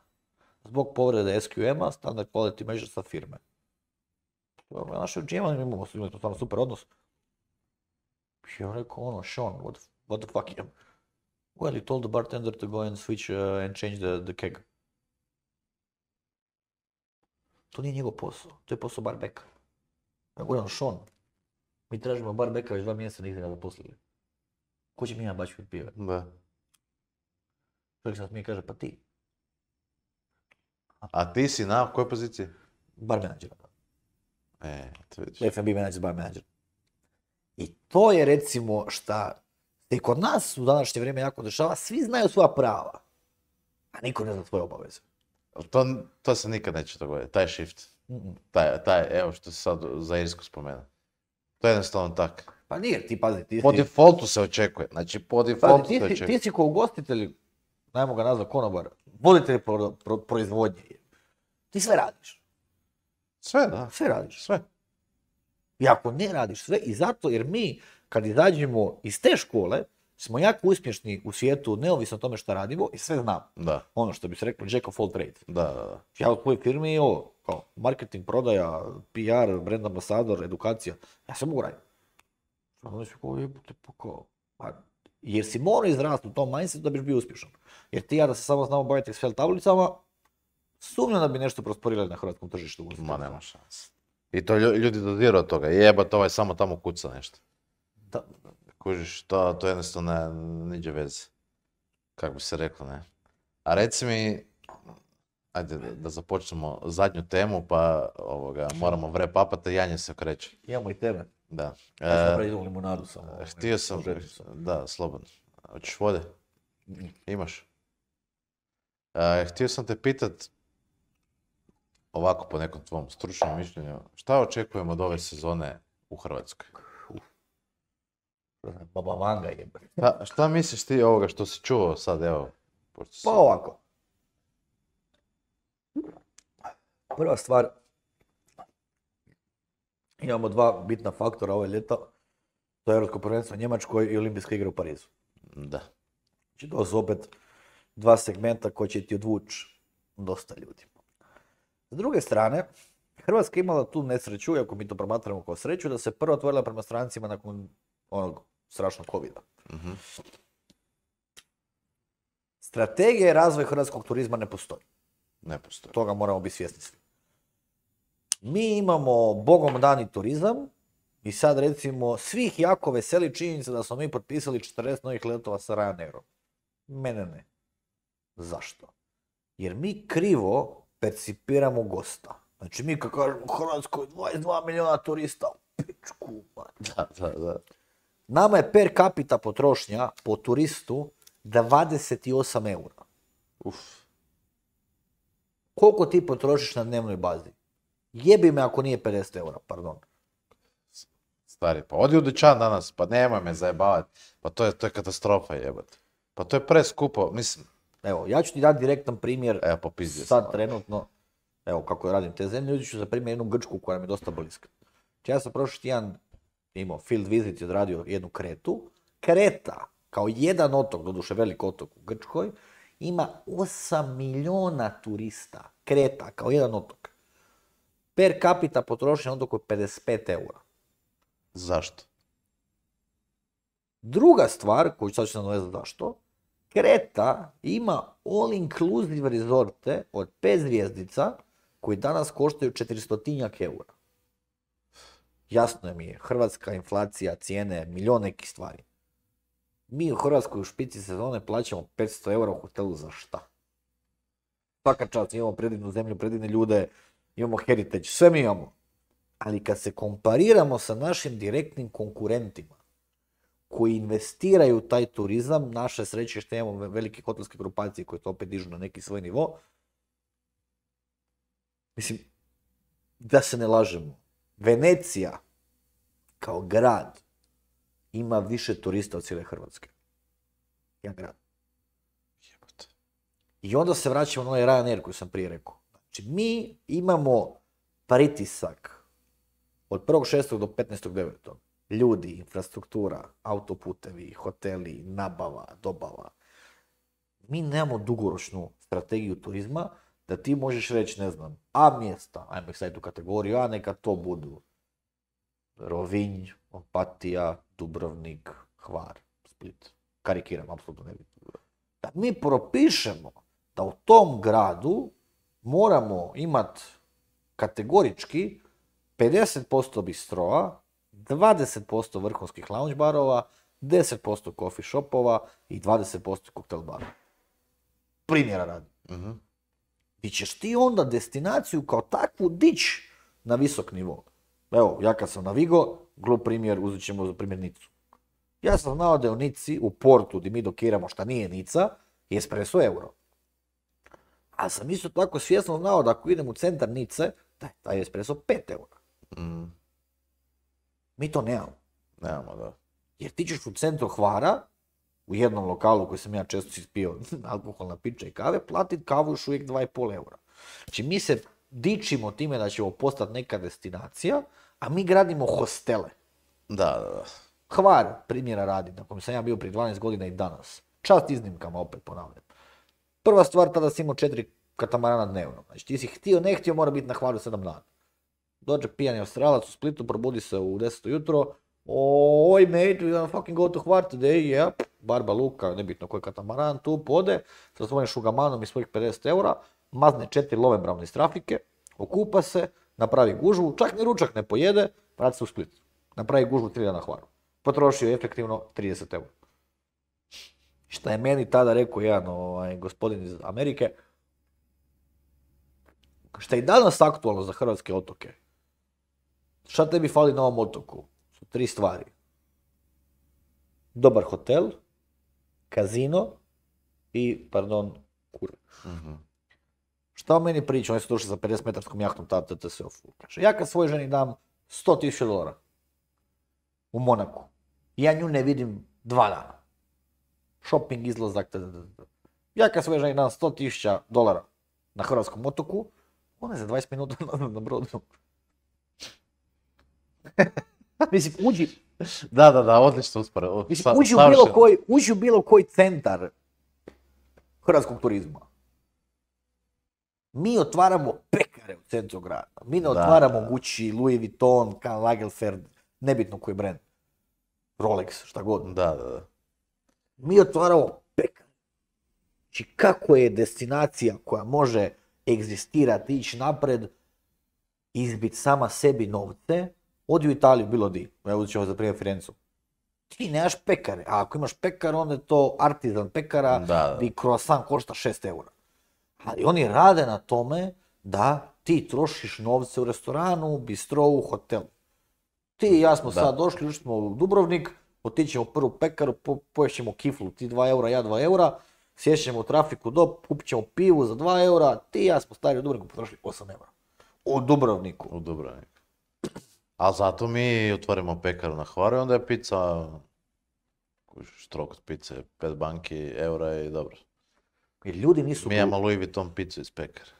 Zbog povrede SQM-a, standard quality measure sa firme. Našeg GM-a imamo stvarno super odnos. I ja rekao, Sean, what the fuck, well, he told the bartender to go and switch and change the keg. To nije njegov posao, to je posao barbeka. Ja govorim, Sean, mi tražimo barbeka već 2 mjeseca, nigdje ga zaposlili. Ko će mi jedan bačku od pive? Da. Čovjek sam mi kaže, pa ti. A ti si na kojoj poziciji? Bar menadžera. To vidiš. F&B menadžer, bar menadžer. I to je recimo šta se kod nas u današnje vrijeme jako dešava, svi znaju svoja prava. a niko ne zna svoje obaveze. To se nikad neće dogoditi, taj shift. Evo što si sad za Irsku spomenuo. To je jednostavno tak. Pa nije, ti pazi, ti si... Po defaultu se očekuje, znači po defaultu se očekuje. Ti si ko ugostitelj, najmo ga nazvat konobar, voditelj proizvodnje. Ti sve radiš. Sve, da. Sve radiš. Sve. I ako ne radiš sve, i zato jer mi, kad izađemo iz te škole, smo jako uspješni u svijetu, neovisno o tome što radimo, i sve znam. Da. Ono što bi se reklo, jack of all trades. Da. Ja u tvojoj firmi, kao marketing, prodaja, PR, brand ambasador, edukacija, ja sve mogu raditi. Onda si kao, jebote, jer si morao izrasti u tom mindsetu da biš bio uspješan. Jer ti ja da se samo znamo baviti Excel tablicama, sumnjam da bi nešto prosperirali na hrvatskom tržištu. Ma nema šanse. I to ljudi dodiru od toga. Jebate, ovaj samo tamo kuca nešto. Da. Kužiš, to jednostavno niđe veze. Kako bi se reklo, ne. A reci mi, ajde da započnemo zadnju temu, pa moramo wrap-upati, Janje se okreće. Imamo i tebe. Da. Ja sam napravio limunadu samo. Htio sam, da, slobodno. Hoćeš vode? Imaš? Htio sam te pitat, ovako po nekom tvom stručnom mišljenju, šta očekujemo od ove sezone u Hrvatskoj? Baba Vanga jebe. Šta misliš ti ovoga što si čuo sad, evo? Pa ovako. Prva stvar, imamo dva bitna faktora ove ljeta. To je Europsko prvenstvo u Njemačkoj i Olimpijske igre u Parizu. Da. Znači to su opet dva segmenta koji će ti odvući dosta ljudi. S druge strane, Hrvatska imala tu nesreću, iako mi to promatramo kao sreću, da se prvo otvorila prema strancima nakon onog strašnog covida. Mm-hmm. Strategija i razvoj hrvatskog turizma ne postoji. Ne postoji. Toga moramo biti svjesni svi. Mi imamo bogom dani turizam i sad recimo svih jako veseli činjenica da smo mi potpisali 40 novih letova sa Ryanairom. Mene ne. Zašto? Jer mi krivo percipiramo gosta. Znači mi kad kažemo u Hrvatskoj 22 milijuna turista, pičku. Da. Nama je per capita potrošnja po turistu 28 eura. Koliko ti potrošiš na dnevnoj bazi? Jebi me ako nije 50 eura, pardon. Stari, pa odi u dućan danas, pa nemoj me zajebavati. Pa to je katastrofa jebate. Pa to je preskupo, mislim. Evo, ja ću ti dati direktan primjer. Evo, popizdio sad sam. Trenutno, evo kako radim te zemlje, ljudi ću za primjer jednu Grčku koja mi je dosta bliska. Ja sam prošli tjedan imao field visit i odradio jednu Kretu. Kreta, kao jedan otok, doduše velik otok u Grčkoj, ima 8 milijuna turista. Kreta, kao jedan otok. Per capita potrošnja na otoku je 55 eura. Zašto? Druga stvar, koju sad ću se nadovezati zašto, Kreta ima all inclusive rezorte od 5 zvjezdica koji danas koštaju 400 eura. Jasno je mi je, hrvatska inflacija, cijene, milion nekih stvari. Mi u Hrvatskoj u špici sezone plaćamo 500 eura u hotelu za šta? Svaka čast, imamo predivnu zemlju, predivne ljude, imamo heritage, sve mi imamo. Ali kad se kompariramo sa našim direktnim konkurentima koji investiraju u taj turizam, naše sreće što imamo velike hotelske grupacije koje to opet dižu na neki svoj nivo, mislim, da se ne lažemo, Venecija kao grad ima više turista od cijele Hrvatske. Jedan grad. I onda se vraćamo na onaj Ryanair koji sam prije rekao. Znači, mi imamo pritisak od 1.6. do 15.9. Ljudi, infrastruktura, autoputevi, hoteli, nabava, dobava. Mi nemamo dugoročnu strategiju turizma da ti možeš reći, ne znam, A mjesta, ajmo ih staviti u kategoriju A, neka to budu Rovinj, Opatija, Dubrovnik, Hvar, Split. Karikiram, apsolutno ne vidim. Da mi propišemo da u tom gradu moramo imati kategorički 50% bistroa, 20% vrhunskih lounge barova, 10% coffee shopova i 20% koktel barova. Primjera radi. Mm-hmm. Ti ćeš ti onda destinaciju kao takvu dići na visok nivo. Evo, ja kad sam na Vigo, glup primjer, uzet ćemo za primjer Nicu. Ja sam znao da je u Nici, u portu gdje mi dokiramo šta nije Nica, je espresso euro. A sam isto tako svjesno znao da ako idem u centar Nice, da je taj espresso 5 eura. Mm. Mi to nemamo. Nemamo, da. Jer ti ćeš u centru Hvara, u jednom lokalu koji sam ja često ispio alkoholna pića i kave, platiti kavu još uvijek 2,5 eura. Znači mi se dičimo time da ćemo postati neka destinacija, a mi gradimo hostele. Da. Hvar, primjera radi, na kojem sam ja bio prije 12 godina i danas. Čast iznimkama, opet ponavljam. Prva stvar, tada si imao 4 katamarana dnevno. Znači ti si htio, ne htio, mora biti na Hvaru 7 dana. Dođe pijani Australac u Splitu, probudi se u 10 jutro. Oj mate, we gonna fucking go to Hvar today, yeah. Barba Luka, nebitno koji katamaran, tu pode, sa svojim šugamanom i svojih 50 eura, mazne 4 lovebravne iz trafike, okupa se, napravi gužvu, čak ni ručak ne pojede, vrati se u Split. Napravi gužvu 3 dana na Hvaru. Potrošio je efektivno 30 eura. Šta je meni tada rekao jedan gospodin iz Amerike, šta je i danas aktualno za hrvatske otoke. Šta tebi fali na ovom otoku? Su 3 stvari. Dobar hotel, kazino i, kur. Mm-hmm. Šta o meni priča? Oni su došli za 50-metarskom jahtom tada TTS-u. Kaže, ja kad svojoj ženi dam $100,000 u Monaku, ja nju ne vidim 2 dana. Shopping, izlazak, Ja kad svojoj ženi dam $100,000 na hrvatskom otoku, ona je za 20 minuta na brodu. Mislim, uđi... Da, odlično usporedno. Mislim, uđi u bilo koji centar hrvatskog turizma. Mi otvaramo pekare u centru grada. Mi ne otvaramo Gucci, Louis Vuitton, Karl Lagerfeld, nebitno koji brand. Rolex, šta god. Da. Mi otvaramo pekare. Znači, kako je destinacija koja može egzistirati, ići napred, izbiti sama sebi novce, odi u Italiju, bilo di. Evo ćemo za primjer Firencu. Ti nemaš pekare, a ako imaš pekar, onda je to artizan pekara, gdje croissant košta 6 eura. Ali oni rade na tome da ti trošiš novce u restoranu, bistrovu, hotelu. Ti i ja smo sad došli, ušli smo u Dubrovnik, otićemo u prvu pekaru, poješćemo kiflu, ti 2 eura, ja 2 eura, sješćemo u trafiku kupit ćemo pivu za 2 eura, ti i ja smo stari u Dubrovniku potrošili 8 eura. U Dubrovniku. A zato mi otvorimo pekaru na Hvaru i onda je pizza, štrok od pice, 5 banki, eura i dobro. Jer ljudi nisu... Mi imamo Louis Vuitton pizzu iz pekare.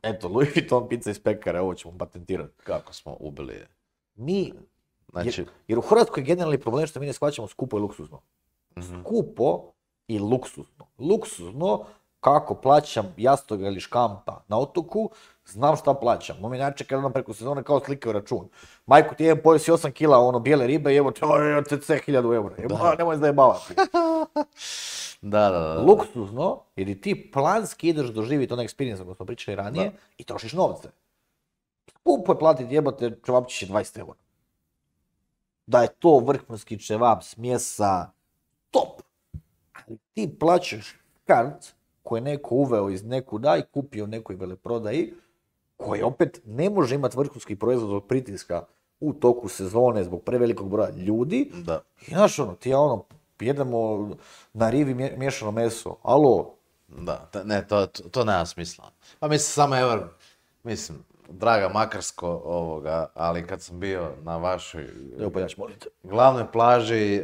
Eto, Louis Vuitton pizza iz pekare, ovo ćemo patentirati. Kako smo ubili je. Mi... Znači... Jer u Hrvatskoj je generalni problem što mi ne shvaćamo skupo i luksuzno. Mm-hmm. Skupo i luksuzno. Luksuzno, kako plaćam jastoga ili škampa na otoku, znam šta plaćam. Moj inače kad odam preko sezone kao slikaju račun. Majko, ti jedan pojeo si 8 kila bijele ribe i evo te 1000 eura. Nemoj zajebavati. Da. Luksuzno, jer ti planski ideš doživjeti onaj experience koji smo pričali ranije i trošiš novce. Skupo je platiti jebote čevapčiće 20 eura. Da je to vrhunski čevap, smjesa, top. Ali ti plaćaš kart koji je neko uveo iz nekuda i kupio u nekoj veleprodaji, koji opet ne može imati vrhunski proizvod zbog pritiska u toku sezone zbog prevelikog broja ljudi. Da. I znaš ti ja jedemo na rivi miješano meso, alo? Da, ne, to nema smisla. Pa mislim, draga Makarsko ali kad sam bio na vašoj glavnoj plaži,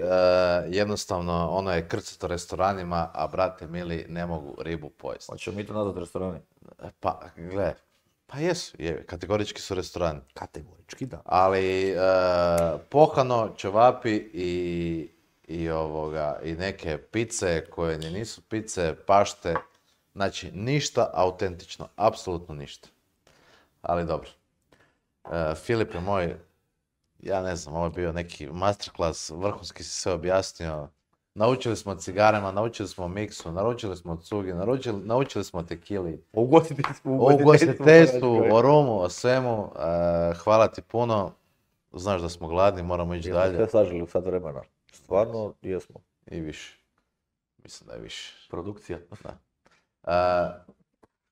jednostavno ono je krcato restoranima, a brate mili ne mogu ribu pojesti. Hoćemo mi to nazvati restorani? Pa, gle, pa jesu, kategorički su restorani. Kategorički, da. Ali pohano, ćevapi i neke pice koje nisu pice, pašte, znači ništa autentično, apsolutno ništa. Ali dobro. Filipe moj, ja ne znam, ovo je bio neki masterclass, vrhunski si sve objasnio. Naučili smo o cigarama, naučili smo o miksu, naučili smo o cugi, naučili smo o tekili. O ugostiteljstvu, o rumu, o svemu. Hvala ti puno. Znaš da smo gladni, moramo ići dalje. Sve sažili u sat vremena. Stvarno, jesmo. I više. Mislim da je više. Produkcija. Da.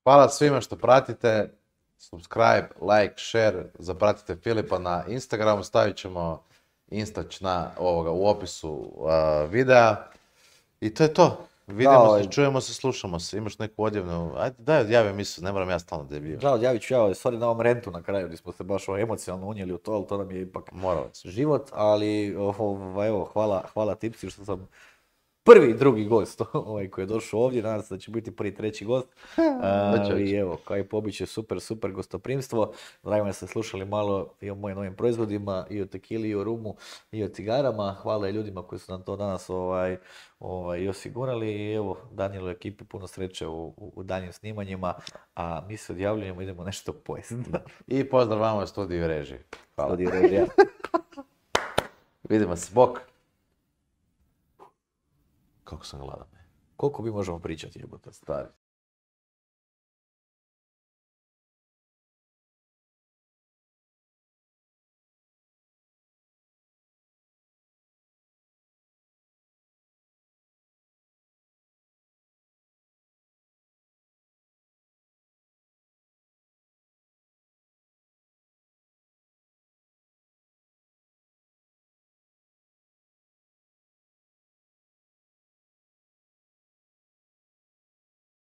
Hvala svima što pratite. Subscribe, like, share. Zapratite Filipa na Instagramu. Stavit ćemo instač u opisu videa. I to je to. Vidimo se, čujemo se, slušamo se. Imaš neku odjevnu, ajde daj odjavi emisiju, ne moram ja stalno debljivati. Da, odjavit ću ja, sorry na ovom rentu na kraju, gdje smo se baš emocionalno unijeli u to, ali to nam je ipak život, ali evo, hvala Tipsi što sam prvi i drugi gost koji je došao ovdje, nadam se da će biti prvi treći gost. I evo, kao i pobiće, super gostoprimstvo. Drago me da ste slušali malo i o mojim novim proizvodima, i o tekili, i o rumu, i o cigarama. Hvala i ljudima koji su nam to danas i osigurali. I evo, Danielu ekipi puno sreće u daljnjim snimanjima, a mi se odjavljujemo, idemo nešto pojesti. I pozdrav vama u studiju režije. Hvala. Studiju režija. Vidimo se, bok. Kako sam gladan. Koliko mi možemo pričati, jebote? Stari.